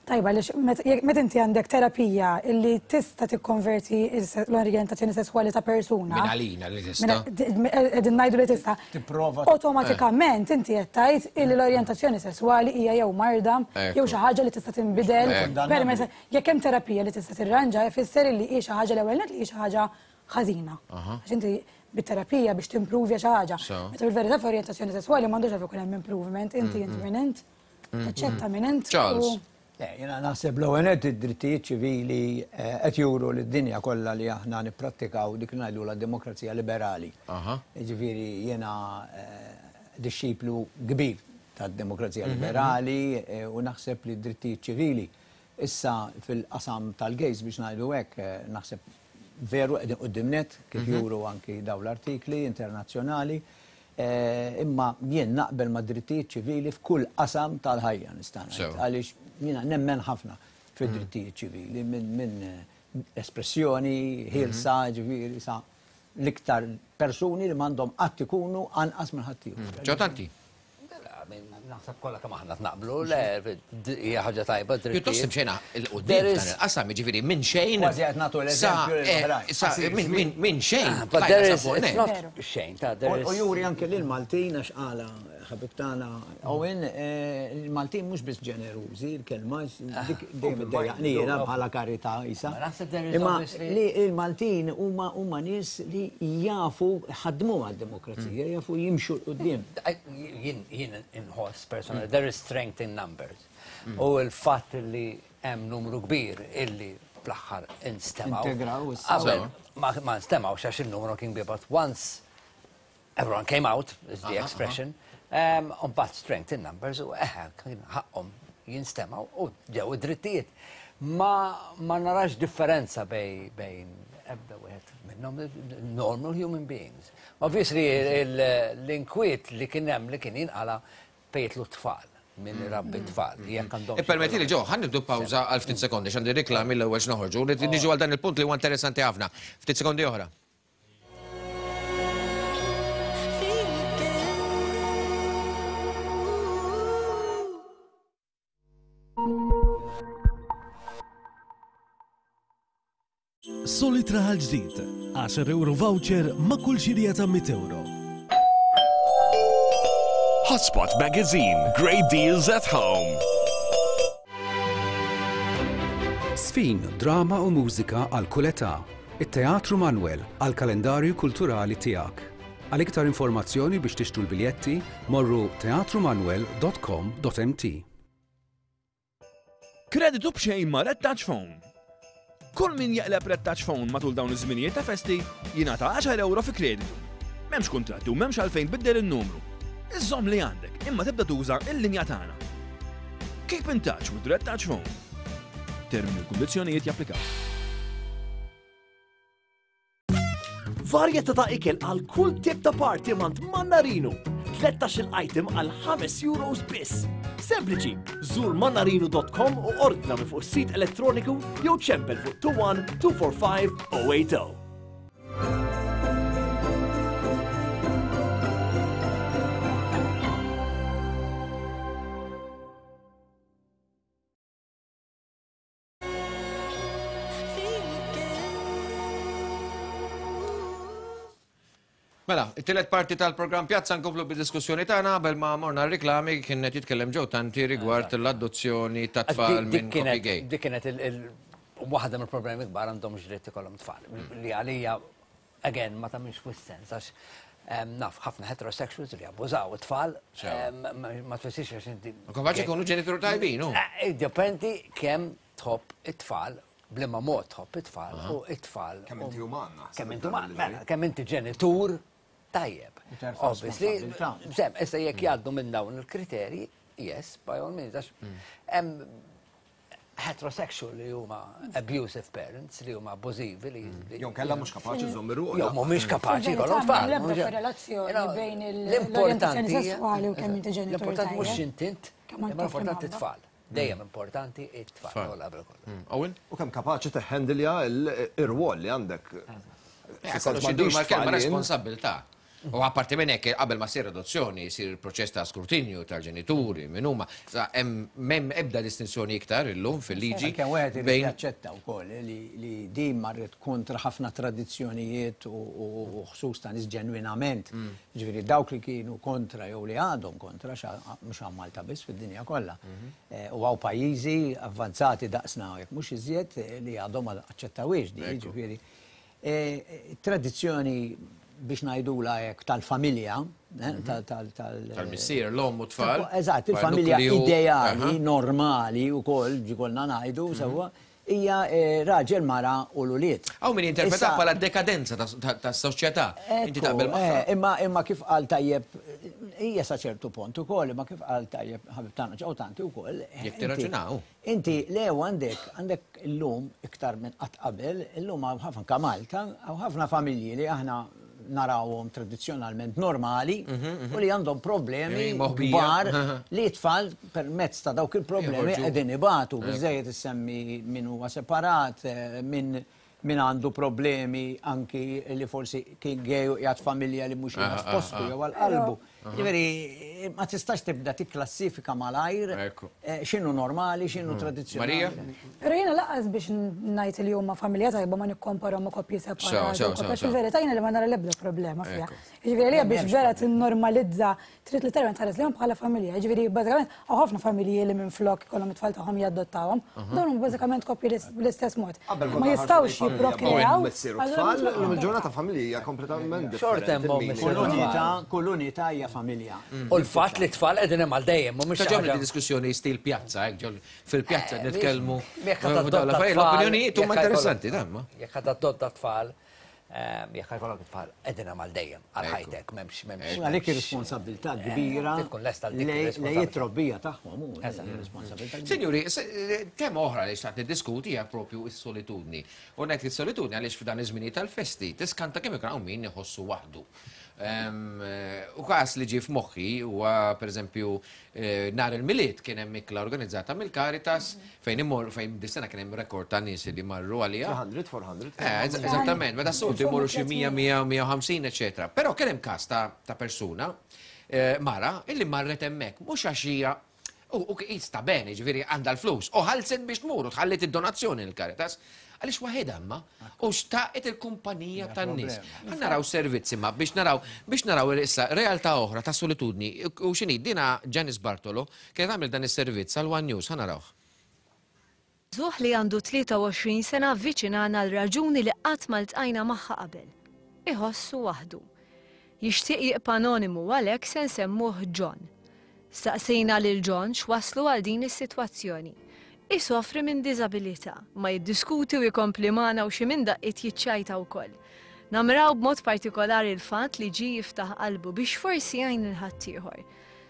tajba, għaliex meta inti għandek terapija illi tista' tikkonverti l-orjentazzjoni sesswali ta' persuna. Min għalina li tista'. Qegħdin ngħidu li tista'. Tipprova. Awtomatikament inti qed tgħid illi l-orjentazzjoni sesswali hija jew marda jew xi ħaġa li tista' tinbidel. Permezz jekk hemm terapija li tista' tirranġa, ifisser illi hi xi ħaġa, l-ewwel nett, li hi xi ħaġa ħażina. Għax inti bit-terapija biex timprovja xi ħaġa. Meta fil-verità f'orjentazzjoni sesswali m'għandux għalfejn ikun hemm improvement, inti inti minn int, taċċetta minn int. Charles. Jiena naħseb l-ewwel id-drittijiet ċivili eh, qed juru lid-dinja kollha li aħna nipprattikaw dik li ngħidu la demokrazija liberali. Ġifieri jiena eh, dixxiplu kbir tad-demokrazija liberali eh, u naħseb li d-drittijiet ċivili issa fil-qasam tal-gays, biex ngħidu hekk, naħseb veru qegħdin quddiem net, kif juru anki daw l-artikli internazzjonali. Imma jien naqbel ma' drittijiet ċivili f'kull qasam tal-ħajja, nista' ngħid. Għaliex jiena nemmen ħafna fid-drittijiet ċivili minn min espressjoni ħielsa, ġifieri sa l-iktar persuni li m'għandhom qatt ikunu anqas minn ħaddieħor. Ġo Tanti. Naħseb kollha kemm aħna naqblu, le, hija ħaġa tajba. Pjuttost imxejna 'l quddiem f'dan il-qasam, jiġifieri minn xejn. Kważi qed nagħtu l-eżempju lill-oħrajn. Sa minn minn xejn. But there is, it's not xejn, ta' there U is. juri anke lil Maltin, għax qala ħabib tagħna Owen, eh, il-Maltin mhux biss ġenerużi, il-kelma dik dejjem iddejjaqni jiena bħala karità isa. Ma naħseb there is Imma obviously- li il-Maltin huma huma nies li jafu ħadmu għad-demokrazija, jafu jimxu 'l quddiem. Jien jien inħoss personally, there is strength in numbers. U il-fatt li hemm numru kbir illi fl-aħħar instemaw. Integraw issa. Qabel ma ma nstemawx għax il-numru kien kbir, but once everyone came out, is the expression, um, but strength in numbers, u eħe, kien ħaqhom jinstemaw u ġew id-drittijiet. Ma, ma narax differenza bej, bejn ebda wieħed minnhom, normal human beings. Obviously, l-inkwiet li kien hemm li kien jinqala fejtlu tfal, minn rabbi tfal. Jekk għandhom. Permetti li ġo, ħa nieħdu pawża għal ftit sekondi, x'għandi riklami l-ewwel noħorġu, niġu għal dan il-punt li huwa interessanti ħafna. Ftit sekondi oħra. Feel good. Solid Raħal Ġdid. għaxar euro voucher ma' kull xirja ta' mitt euro. Hotspot Magazine. Great deals at home. Sfin, drama u mużika għal kull età. It-Teatru Manuel għal kalendarju kulturali tiegħek. Għal iktar informazzjoni biex tixtru l-biljetti, morru teatrumanuel dot com dot m t. Kreditu b'xejn ma' Red Touch Phone. Kull min jaqleb Red Touch Phone matul dawn iż-żminijiet ta' festi jingħata għaxar euro fi kreditu. M'hemmx kuntratti u m'hemmx għalfejn tbiddel in-numru. Iżżomm li għandek imma tibda tuża l-linja tagħna. Keep in touch with Red Touch Phone. Termini u kundizzjonijiet japplikaw. Varjetà ta' ikel għal kull tip ta' party mant Mannarino. tlettax-il item għal ħames euros biss. Sempliċi, żur mannarino dot com u ordna minn fuq is-sit elettroniku jew ċempel fuq two one two four five oh eight oh. Mela, it-tielet parti tal-programm Pjazza nkomplu bid-diskussjoni tagħna qabel ma morna r-riklami kien qed jitkellem Joe Tanti rigward l-adozzjoni ta' tfal Dik minn kienet koppji gay. Dik kienet il-, il-, waħda mill-problemi kbar għandhom ġritt ikollhom tfal. Li għalija, again, ma tagħmilx wisq sens għax, em, naf ħafna heterosexuals li abbużaw it-tfal, Sew. em, ma, ma tfissirx għax inti Ma kapaċi jkunu ġenitur tajbin, hu. Eh, Dippendi kemm tħobb it-tfal, b'liema mod tħobb it-tfal Aha. u it-tfal. Kemm inti uman, naħseb, Kemm inti dan uman, il-ġej. mela, kemm inti ġenitur tajjeb. U terfa' Obviously, responsabilità. sem, issa jekk jgħaddu minn dawn il-kriterji, yes, by all means, għax hemm heterosexual li huma abusive parents, li huma abbużivi, li li Jew kellha mhux kapaċi żomm ir-ruħ. Jew mhumiex kapaċi Fil-verità, jkollhom tfal, m'hemm l-ebda mhux- korrelazzjoni You know, bejn il- l-importanti l-orjentazzjoni hija- sessuali u kemm inti ġenitur L-importanti mhux tajjeb. x'intint, Kemm għandek imma l-importanti imħabba. tfal. Dejjem importanti it-tfal, Tfal. u l-qabel kollu. Owen? U kemm kapaċi teħendilja il-rwol li għandek. Eh, kollox idur mal-kelma responsabilità. U apparti minn hekk qabel ma ssir adozzjoni jsir il-proċess ta' skrutinju tal-ġenituri minn huma. Sa hemm m'hemm ebda distinzjoni iktar illum fil-liġi Kemm wieħed irid bejn jaċċetta wkoll li, li din marret kontra ħafna tradizzjonijiet u, u, u ħsus ta' nies ġenwinament. Mm. Ġifieri dawk li kienu kontra jew li għadhom kontra, xa-, mhux hawn Malta biss fid-dinja kollha. Mhm. Eh, u hawn pajjiżi avvanzati daqsna jekk mhux iżjed, eh, li għadhom ma aċċettawiex di, Ekku. ġifieri. Eh, tradizzjoni biex ngħidula hekk tal-familja, eh, Mhm. tal-, tal-, tal-, Tal-missier, l-omm u tfal. Eżatt, Bħal il-familja nukleu. ideali, Aha. normali u koll, ġikolna ngħidu, Mhm. sewwa, hija, eh, raġel, mara u l-ulied. Hawn min jinterpreta Issa- bħala dekadenza ta', ta, ta' soċjetà. Inti Ekku, taqbel magħha? eh, imma, imma kif qal tajjeb, hija sa ċertu punt ukoll, imma kif qal tajjeb ħabib tagħna Joe Tanti wkoll, eh, Jekk inti- tirraġunaw. Inti le għandek, għandek illum iktar minn qatt qabel, illum hawn ħafna ka Malta, hawn ħafna familji li aħna narawhom tradizzjonalment normali Mhm, mhm. u li għandhom problemi Ej, moħbija. kbar li t-tfal permezz ta' dawk il-problemi Joħorġu. qegħdin ibatu. Ekku. Biżejjed issemmi min huwa separat, eh, min, min għandu problemi anki li forsi kien gay u qiegħed familja li mhux Ah, qiegħed ah, f'postu ah. jew għal qalbu. Aha. Ġifieri, ma tistax tibda tikklassifika malajr, Ekku. eh, x'inhu normali, x'inhu Mm. tradizzjonali. Marija? Però jiena laqas biex ngħid li huma familja tajba ma nikkomparhom ma' koppji separati. Sew, sew, u koppji, sew, sew. Fil-verità jiena li ma nara l-ebda problema fiha. Ekku. Jiġifieri għalija biex M'hemmx vera tinnormalizza trid literalment tħares lejhom bħala familja. Jiġifieri bażikament hawn ħafna familji li minflok ikollhom it-tfal tagħhom jadottawhom. Aha. Dawn huma bażikament koppji l-ist-, bl-istess mod. Qabel Ma konna ħarsu jistgħux lejn familja, jipprokreaw. missier u allura tfal, minflok illum il-ġurnata familja hija kompletament Xorta differenti. hemm il-meaning. missier Kull unità, kull unità hija familja. U l-fatt li t-tfal qegħdin hemm għal dejjem, mhumiex Ta' ġobni ħaġa- di diskussjoni stil pjazza, hekk, ġol fil-pjazza Eh, nitkellmu. Jekk eh, ħadd dawn adotta l-affarijiet, tfal, L-opinjonijiet huma jekk interessanti, ħajkollok- dan ma. Jekk ħadd adotta tfal, ehm, jekk ħajkollok tfal, qegħdin hemm għal dejjem, għal ħajtek, m'hemmx, m'hemmx. U għalhekk ir-responsabilità kbira Eh, tkun lesta għal dik lej ir-responsabilità. lej it-trobbija tagħhom hu Eżatt. responsabilità kbira. Signori, se- tema oħra li xtaqt niddiskuti hija propju is-solitudni. U ngħid is-solitudni għaliex f'dan iż-żminijiet tal-festi tiskanta kemm ikun hawn min iħossu waħdu. Ehm, eh, U każ li ġie f'moħħi huwa pereżempju eh, nhar il-Milied kien hemm ikla organizzata mill-Caritas fejn immor fejn dis-sena kien hemm rekord ta' nies li marru għaliha. tliet mija, erba' mija. Eh, eż- Eżattament, meta s-soltu jmorru xi mija, mija, mija u ħamsin, eċetera. Però kien hemm każ ta' ta' persuna, eh, mara, illi marret hemmhekk, mhux għax hija U sta bene, ġifieri għandha l-flus. U ħallset biex tmur u tħallit id-donazzjoni l-Caritas. Għaliex waħedha imma u xtaqet il-kumpanija tan-nies. Ħa naraw servizzi ma biex naraw biex naraw issa realtà oħra ta' solitudni. U x'inhi dina Janice Bartolo kienet għamel dan is-servizz għal One News, ħa narawh. Żagħżugħ li għandu tlieta u għoxrin sena avviċinana għal raġuni li qatt ma ltqajna magħha qabel. Iħossu waħdu. Jixtieq jibqa' anonimu għalhekk se nsemmuh John. Staqsejna lil John x'waslu għal din is-sitwazzjoni. Isofri minn diżabilità, ma jiddiskuti u jkompli magħna u xi minn daqqiet jiċċajta wkoll. Namraw b'mod partikolari l-fatt li ġie jiftaħ qalbu biex forsi jgħin lil ħaddieħor.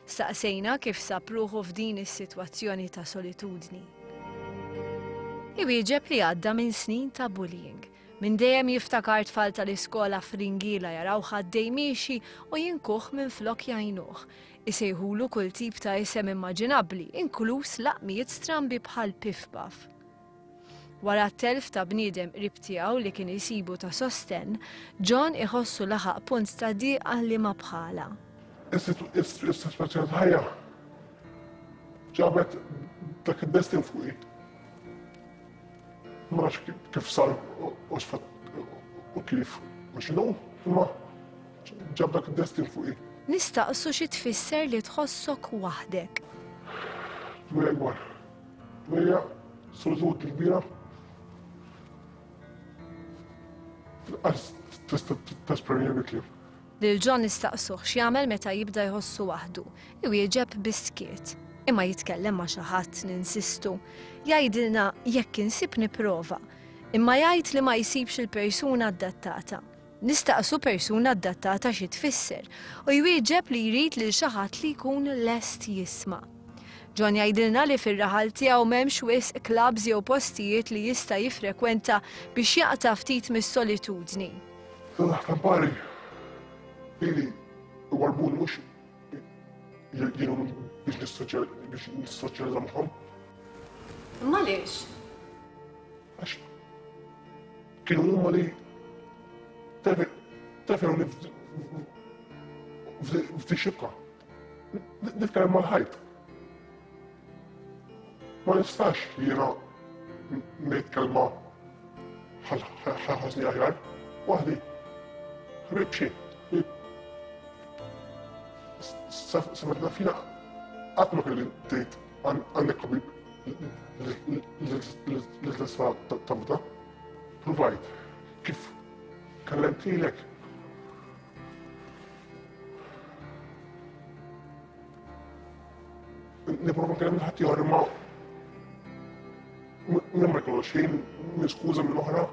Staqsejna kif sab ruħu f'din is-sitwazzjoni ta' solitudni. Iwieġeb li għadda minn snin ta' bullying. Minn dejjem jiftakar tfal tal-iskola fringila jaraw ħaddej miexi u jinkuh minn flok jgħinuh. Isejħulu kull tip ta' isem immaġinabbli, inkluż laqmijiet strambi bħal pif-paf. Wara t-telf ta' bniedem qrib tiegħu li kien isibu ta' sostenn, John iħossu laħaq punt ta' diqa li ma bħala. Is-sitwazzjoni ta' ħajja ġabet dak id-destin fuqi. Ma nafx kif sar u x'fatt u kif u x'inhu, imma ġab dak id-destin fuqi. Nistaqsu xi tfisser li tħossok waħdek. Dwejja kbar. Dwejja solitudni kbira. Lanqas tista' tesprimi bi kliem. Lil John nistaqsuh x'jagħmel meta jibda jħossu waħdu. Iwieġeb bis-skiet. Imma jitkellem ma' xi ħadd ninsistu. Jgħidilna jekk insib nipprova. Imma jgħid li ma jsibx il-persuna adattata. Nistaqsu persuna adattata xi tfisser u jwieġeb li jrid lil xi ħadd li jkun lest jisma'. John jgħidilna li fir-raħal tiegħu m'hemmx wisq clubs jew postijiet li jista' jiffrekwenta biex jaqta' ftit mis-solitudni. Tampari, ili warbuni mhux jgħinu biex nissoċjalizza magħhom. Imma għaliex? Għax kienu huma li tefewni f'di xibka. Nitkellem mal-ħajt. Ma nistax jiena ngħid kelma ħasni aħjar. Waħdi. Ħbib xi. Sa fina qatt ma kelli tgħid għandek ħabib li tista' tafda. Provajt kif kellemt lilek. Nipprova nkellem lil ħaddieħor imma minn ma jkollux ħin, minn skuża minn oħra.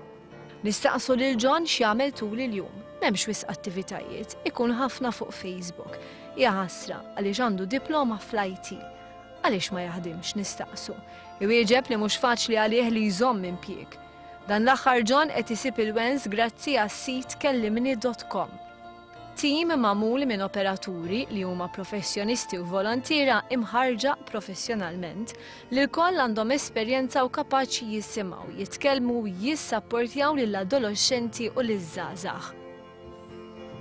Nistaqsu lil John x'jagħmel tul il-jum. M'hemmx wisq attivitajiet, ikun ħafna fuq Facebook. Hija ħasra għaliex għandu diploma fl-I T. Għaliex ma jaħdimx nistaqsu. Iwieġeb li mhux faċli għalih li jżomm impjieg. Dan l-aħħar John qed isib il-wens grazzi għas-sit kellimni dot com. Tim magħmul minn operaturi li huma professjonisti u volontiera imħarġa professjonalment li lkoll għandhom esperjenza u kapaċi jisimgħu, jitkellmu u jissapportjaw lill-adolescenti u liż-żgħażagħ.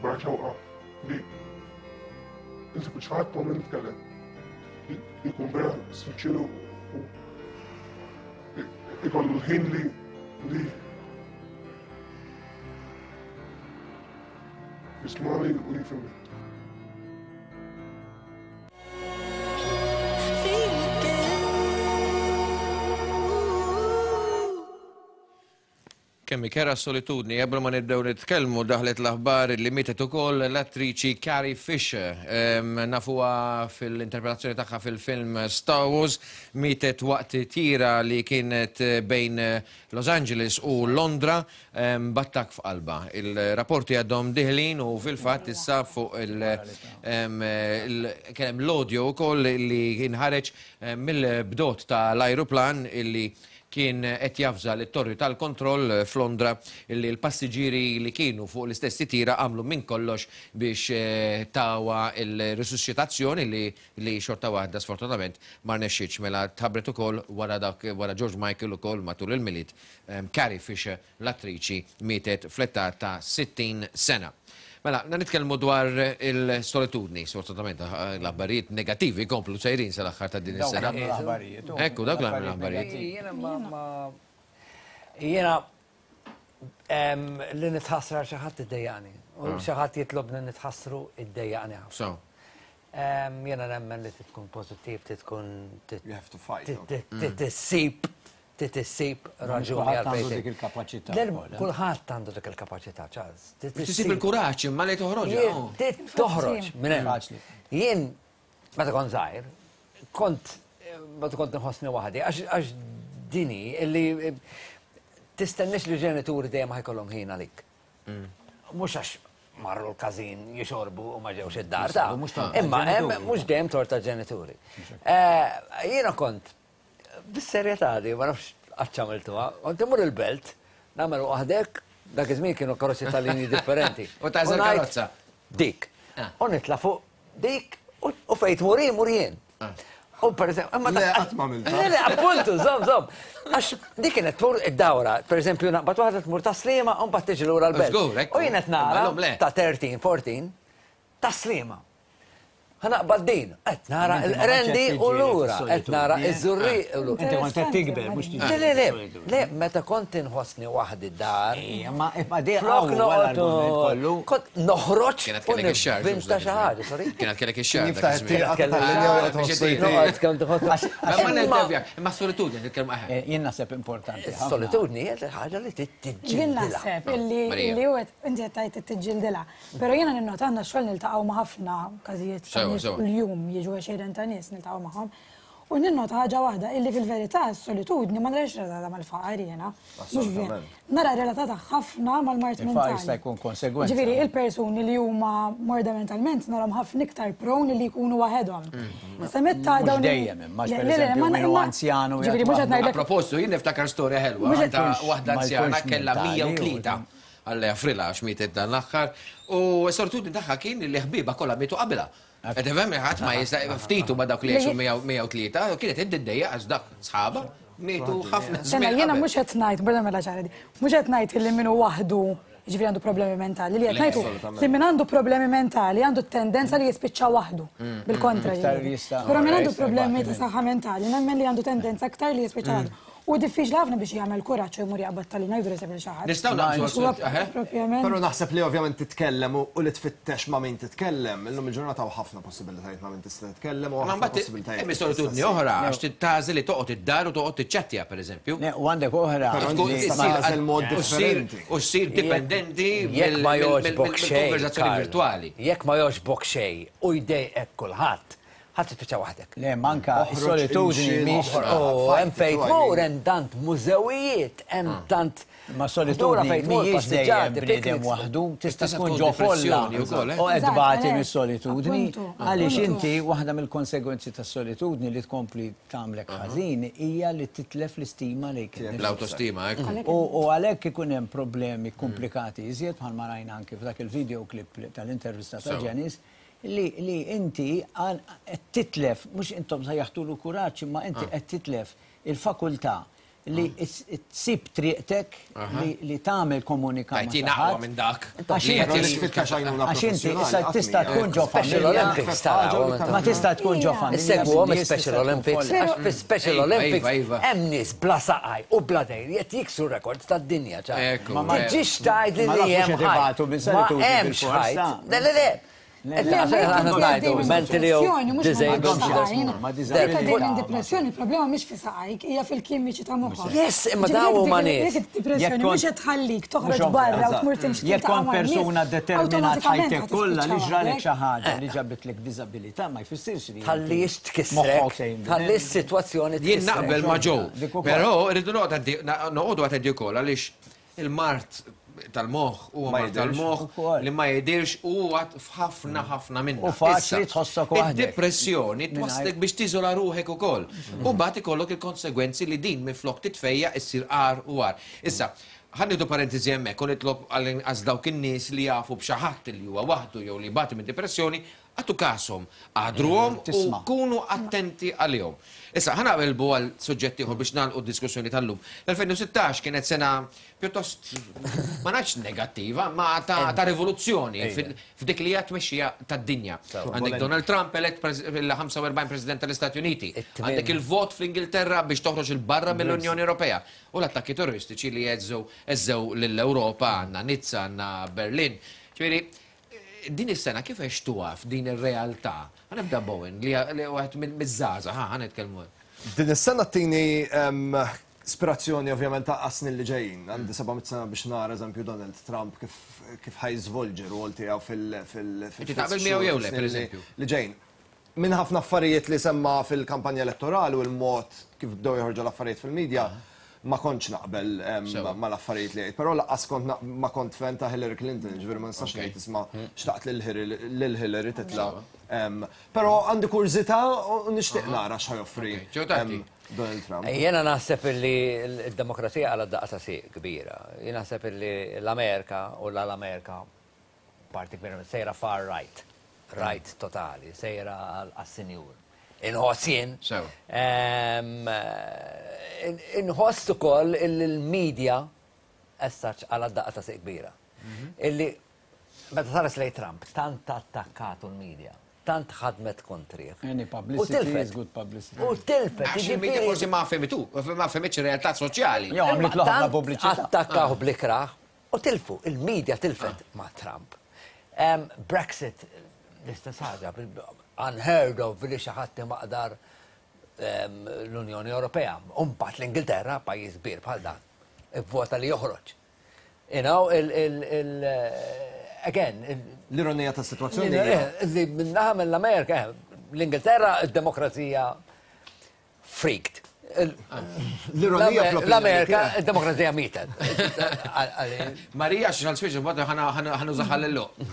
Barra xewqa li insib xi ħadd ma nitkellem. Jkun vera sinċiru u ikollu l-ħin li li jismani u jifhimni. Kemm kera solitudni, qabel ma nibdew nitkellmu daħlet l-aħbar li mietet ukoll l-attriċi Carrie Fisher. Nafuha fil-interpretazzjoni tagħha fil-film Star Wars, mietet waqt tira li kienet bejn Los Angeles u Londra b'attakk f'qalba. Il-rapporti għadhom diħlin u fil-fatt issa fuq il kien hemm l-audio wkoll li inħareġ mill-bdot tal-ajruplan illi kien qed jafża lit-torri tal-kontroll f'Londra illi l-passiġġieri li kienu fuq l-istess titira għamlu minn kollox biex tawa il-risuscitazzjoni li, li xorta waħda sfortunatament ma rnexxietx. Mela tħabbret ukoll wara dak wara George Michael ukoll matul il-Milied. Carrie Fisher, l-attriċi, mietet fl-età ta' sittin sena. Mela, nitkellmu dwar il-solitudni, sfortunatament l-aħbarijiet negattivi komplu sejrin sal-aħħar ta' din is-sena. Ekku, dawk l-aħbarijiet. Jiena li nitħassra xi ħadd iddejjaqni. U xi ħadd jitlobni nitħassru iddejjaqni ħafna. Jiena nemmen li tkun pożittiv, tkun You have to fight. Tissib tissib raġuni għandu dik il-kapaċità. Kulħadd għandu dik il-kapaċità, Charles. Tissib il-kuraġġ imma li toħroġ. Toħroġ minn hemm. Jien meta kont żgħir, kont meta kont nħossni waħdi, għax dini illi tistenniex li ġenituri dejjem ħajkollhom ħin għalik. Mhux għax marru l-każin jixorbu u ma ġewx id-dar ta' imma mhux dejjem torta ġenituri. Jiena kont bis-serjetà di, ma nafx għax għamiltuha, kont imur il-belt, nagħmel waħdek, dak iż-żmien kienu karozzi tal-linji differenti. U tażel karozza. Dik. U nitla' fuq dik u fejn tmur jien mur jien. U per eżempju, imma Le, qatt ma għamiltha. Le, le, appuntu, żomm, żomm. Għax dik kienet tmur id-dawra, per eżempju, naqbad waħda tmur ta' Sliema u mbagħad tiġi lura l-belt. U jien qed nara ta' tlettax, erbatax ta' Sliema. Ħa naqbad din, qed nara l-Qrendi u lura, qed nara iż-Żurrieq u lura. Inti kont qed tikber, mhux tiġi. Le, le, le, meta kont inħossni waħdi d-dar. Ma flok noqgħod kont noħroġ u nivvinta xi ħaġa, sorry. Kienet kellek ix-xahar. Jiftaħ it-tieqa tal-linja u Imma solitudni nitkellmu aħ. Jien naħseb importanti. Solitudni hija ħaġa li tiġġildilha. Jien naħseb illi inti qed tgħid tiġġildilha. Però jiena ninnota għandna xogħol niltaqgħu ma' ħafna każijiet kuljum jiġu għexieren ta' nies niltaqgħu magħhom. U ninnota ħaġa waħda illi fil-verità s-solitudni ma narax relatata mal-faqar jiena. Mhux vera. Nara relatata ħafna mal-mard mentali. Il-faqar jista' jkun konsegwenza. Ġifieri il-persuni li huma morda mentalment narhom ħafna iktar prone li jkunu waħedhom. Issa meta dawn dejjem imma pereżempju min hu anzjan u Ġifieri mhux qed ngħidlek. A propositu jien niftakar storja ħelwa ta' waħda anzjana kellha mija u tlieta. Alla jafrilha għax mietet dan l-aħħar. U s-solitudni tagħha kien li ħbiebha kollha mietu qabilha. Qed tifhem ħadd ma jista' ftitu ma dawk li jgħixu mija u tlieta, kienet iddejja għax dak sħaba mietu ħafna żmien. Sena jiena mhux qed ngħid, barra mela ċara di, mhux qed ngħid li min hu waħdu jiġifieri għandu problemi mentali, li qed ngħidu li min għandu problemi mentali għandu tendenza li jispiċċa waħdu, bil-kontra. Però min għandu problemi ta' saħħa mentali, nemmen li għandu tendenza aktar li jispiċċa waħdu. U diffiċli ħafna biex jagħmel kuraġġ u jmur jaqbad tal-linja jdur iseb lil xi ħadd. Nistgħu naqbżu propjament. Però naħseb li ovvjament titkellem u li tfittex ma' min titkellem, illum il-ġurnata hawn ħafna possibilitajiet ma' min tista' titkellem u ħafna possibilitajiet. Hemm solitudni oħra għax tagħżel li toqgħod id-dar u toqgħod tiċċettja pereżempju. U għandek oħra. Tagħżel mod differenti. U ssir dipendenti mill-konversazzjoni virtwali. Jekk ma jogħġbok xejn u jdejqek kulħadd, ħadd tispiċċa waħdek. Le, manka solitudni mhix. Hemm fejn tmur, hemm tant mużewijiet, hemm tant. Ma solitudni mhijiex dejjem bniedem waħdu, tista' tkun ġo folla u qed tbati mis-solitudni. Għaliex inti waħda mill-konsegwenzi tas-solitudni li tkompli tagħmlek ħażin hija li titlef l-istima lejk. L-autostima, ekku. U għalhekk ikun hemm problemi komplikati iżjed bħalma rajna anke f'dak il-video clip tal-intervista ta' Janice. Li inti qed titlef, mhux intom sejjaħtulu kuraġġ, imma inti qed titlef il-fakultà li tsib triqtek li tagħmel komunika. Tajtina aqwa minn dak. Għax inti issa tista' tkun ġo familja. Ma tista' tkun ġo familja. Issegwhom Special Olympics. Għax fi Special Olympics hemm nies bla saqaj u bla dejr qed jiksu rekords tad-dinja. Ma tiġix tgħid li hemm ħajt. Ma hemmx ħajt. Le, le, le. Mentally disabled. Depressjoni, il-problema mhix fi saqajk, hija fil-kimiċi ta' moħħok. Yes, imma daw huma nies. Depressjoni mhux qed tħallik toħroġ barra u tmur timxi. Jekk kont persuna determinat ħajtek kollha li ġralek xi ħaġa li ġabitlek diżabilità ma jfissirx li. Tħallix tkissrek, tħalli s-sitwazzjoni tkissrek. Jien naqbel ma' Joe, però rridu noqogħdu attenti wkoll għaliex il-mard tal-moħħ u mard tal-moħħ li ma jidirx u għat f'ħafna ħafna minna. U faċli tħossok waħdek. Id-depressjoni twaslek biex tiżola ruħek ukoll. U mbagħad ikollok il-konsegwenzi li din minflok titfejja issir qar u għar. Issa, ħa nieħdu parentesi hemmhekk u nitlob għal dawk in-nies li jafu b'xi ħadd li huwa waħdu jew li jbati minn depressjoni Agħtu kashom, qadruhom u kunu attenti għalihom. Issa, ħa naqilbu għal suġġett ieħor biex nagħlqu d-diskussjoni tal-lum. L-elfejn u sittax kienet sena pjuttost, ma ngħidx negattiva, ma ta' rivoluzzjoni f'dik li hija tmexxija tad-dinja. Għandek Donald Trump elett il-ħamsa u erbgħin President tal-Istati Uniti. Għandek il-vot fl-Ingilterra biex toħroġ il-barra mill-Unjoni Ewropea. U l-attakki terroristiċi li jeżżew lill-Ewropa, għandna Nizza, għandna Berlin. Ġifieri, din is-sena kif għextuha f'din ir-realtà? Ħa nibda Bowen li wieħed miż-żgħażagħ, ħa nitkellmu. Din is-sena tini ispirazzjoni ovvjament ta' snin li ġejjin. Għandi seba' mitt sena biex nara eżempju Donald Trump kif ħajżvolġi r-rwol tiegħu fil- Inti taqbel miegħu jew le, pereżempju? Li ġejjin. Minn ħafna affarijiet li semma fil-kampanja elettorali u l-mod kif bdew joħorġu l-affarijiet fil-medja, ma kontx naqbel mal-affarijiet li għid, però laqqas kont ma kont fan ta' Hillary Clinton, ġifieri ma nistax ngħid isma' xtaqt lil Hillary titla'. Però għandi kurżità u nixtieq nara x'ħa joffri Donald Trump. Jiena naħseb li d-demokrazija għala daqqa ta' sieq kbira. Jien naħseb li l-Amerika u l-Amerika parti kbira sejra far right, right totali, sejra għas-sinjur. Inħoss jien. Inħoss ukoll il-medja essaċ għala daqqa ta' sieq kbira. Illi meta saret lej Trump, tant attakkatu l-medja, tant ħadmet kontrih. Any publicity is good publicity. U tilfet. Għax il-media forsi ma fehmitu, ma fehmitx ir-realtà soċjali. Jo, għamlet ħafna pubbliċità. Attakkaw blikraħ u tilfu, il-media tilfet ma' Trump. Brexit, l-istess ħaġa, unheard of li xi ħadd maqdar l-Unjoni Ewropea. Imbagħad l-Ingilterra, pajjiż kbir bħal dan, ivvota li joħroġ. You know, il again, l-ironija tas-sitwazzjoni li minnaħa mill-Amerika, l-Ingilterra, id-demokrazija freaked. L-ironija l-Amerika, id-demokrazija mietet. Marija, x'għal switch, ħanużaha l-lok.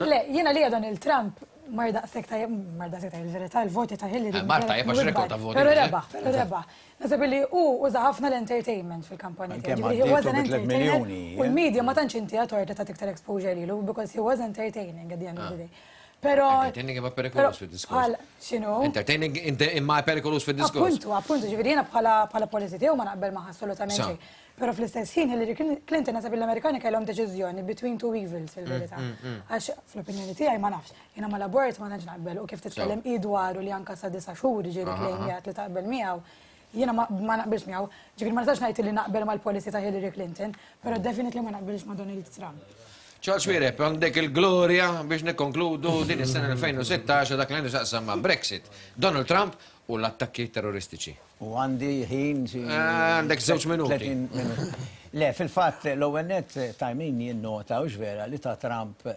Le, jiena li Donald Trump mar daqshekk tajjeb, mar daqshekk tajjeb, il-verità, il-voti ta' Hillary. Mar tajjeb għax rekord ta' voti. Però rebaħ, però rebaħ. Naħseb li hu uża ħafna l-entertainment fil-kampanja tiegħu. He was an entertainer. U l-media ma tantx inti għatorta ta' iktar exposure lilu because he was entertaining at the end of the day. Però entertaining imma perikolus fid-diskors. X'inhu? Entertaining imma perikolus fid-diskors. Appuntu, appuntu, ġifieri jiena bħala policy tiegħu ma naqbel magħha assolutament xejn. Però fl-istess ħin Hillary Clinton naħseb l-Amerikani kellhom deċiżjoni between two evils fil-verità. Għax fl-opinjoni tiegħi ma nafx, jiena mal-abort ma tantx naqbel u kif titkellem hi dwaru li anke sa disa' xhur ġieli klejmjat li taqbel miegħu. Jiena ma naqbilx miegħu. Ġifieri ma nistax ngħid li naqbel mal-policy ta' Hillary Clinton, però definitely ma naqbilx ma' Donald Trump. Charles Xuereb, għandek il-glorja biex nikkonkludu din is-sena elfejn u sittax dak li għandu x'jaqsam ma' Brexit, Donald Trump u l-attakki terroristiċi. U għandi ħin xi Għandek żewġ minuti. Le, fil-fatt l-ewwel nett ta' min jinnota u vera li ta' Trump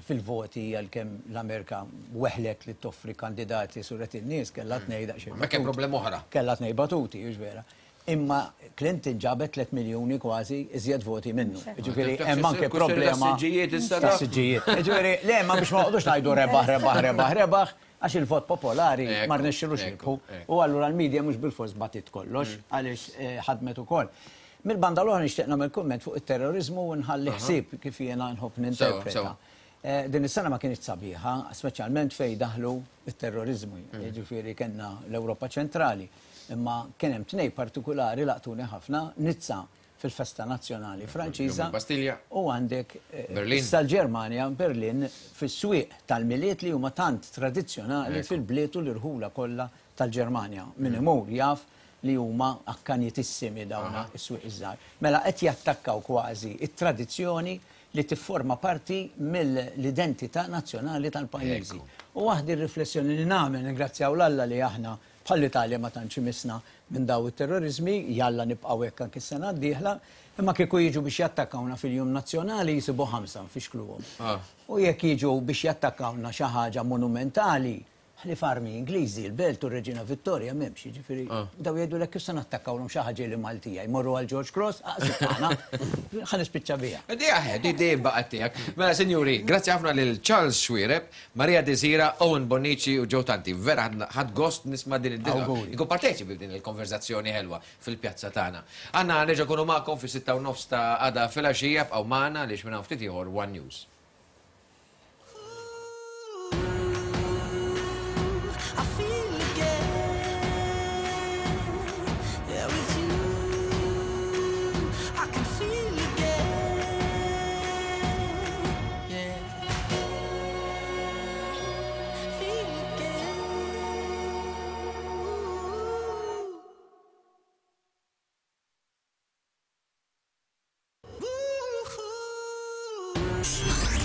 fil-voti għalkemm l-Amerika weħlet li toffri kandidati suret in-nies kellha tnejn daqsxejn. Ma kemm problema oħra. Kellha tnejn batuti, u vera. Imma Clinton ġabet tliet miljuni kważi iżjed voti minnu. Ġifieri hemm anke problema. Tas-siġġijiet. Ġifieri le, ma biex ma noqogħdux ngħidu rebaħ, rebaħ, rebaħ, rebaħ, għax il-vot popolari ma rnexxilux jirbħu. U allura l-medja mhux bil-fors batit kollox għaliex ħadmet ukoll. Mill-banda l-oħra nixtieq nagħmel kumment fuq it-terrorizmu u nħalli ħsieb kif jiena nħobb ninterpreta. Din is-sena ma kienx sabiħa, speċjalment fejn daħlu it-terrorizmu. Ġifieri kellna l-Ewropa ċentrali. Imma kien hemm tnejn partikolari laqtuni ħafna, Nizza fil-festa nazzjonali Franċiża u għandek issa l-Ġermanja, Berlin, fis-swieq tal-Milied li huma tant tradizzjonali fil-bliet u l-irħula kollha tal-Ġermanja. Min imur jaf li huma akkanitissimi dawn is-swieq iż-żgħar. Mela qed jattakkaw kważi it-tradizzjoni li tifforma parti mill-identità nazzjonali tal-pajjiżi. U waħdi r-riflessjoni li nagħmel, ningrazzjaw l-Alla li aħna bħall-Italja ma tantx imisna minn daw it-terrorizmi, jalla nibqgħu hekk anke s-sena d-dieħla, imma kieku jiġu biex jattakkawna fil-jum nazzjonali jisibu ħamsa nfixkluhom. U jekk jiġu biex jattakkawna xi ħaġa monumentali, ħlief armi Ingliżi, il-Belt u r-Reġina Vittoria m'hemmx, jiġifieri daw jgħidulek kif se nattakkawhom xi ħaġa li Maltija, jmorru għal George Cross, aqsib tagħna, ħa nispiċċa biha. Di aħed, di dejjem baqgħet tiegħek. Mela sinjuri, grazzi ħafna lil Charles Xuereb, Maria Desira, Owen Bonnici u Joe Tanti. Vera ħadd gost nisma' din id-dinja. Inkun parteċipi b'din il-konverzazzjoni ħelwa fil-pjazza tagħna. Għandna nerġa' nkunu magħkom fis-sitta u nofs ta' għada filgħaxija bqgħu magħna għaliex minn hawn ftit ieħor One News. News.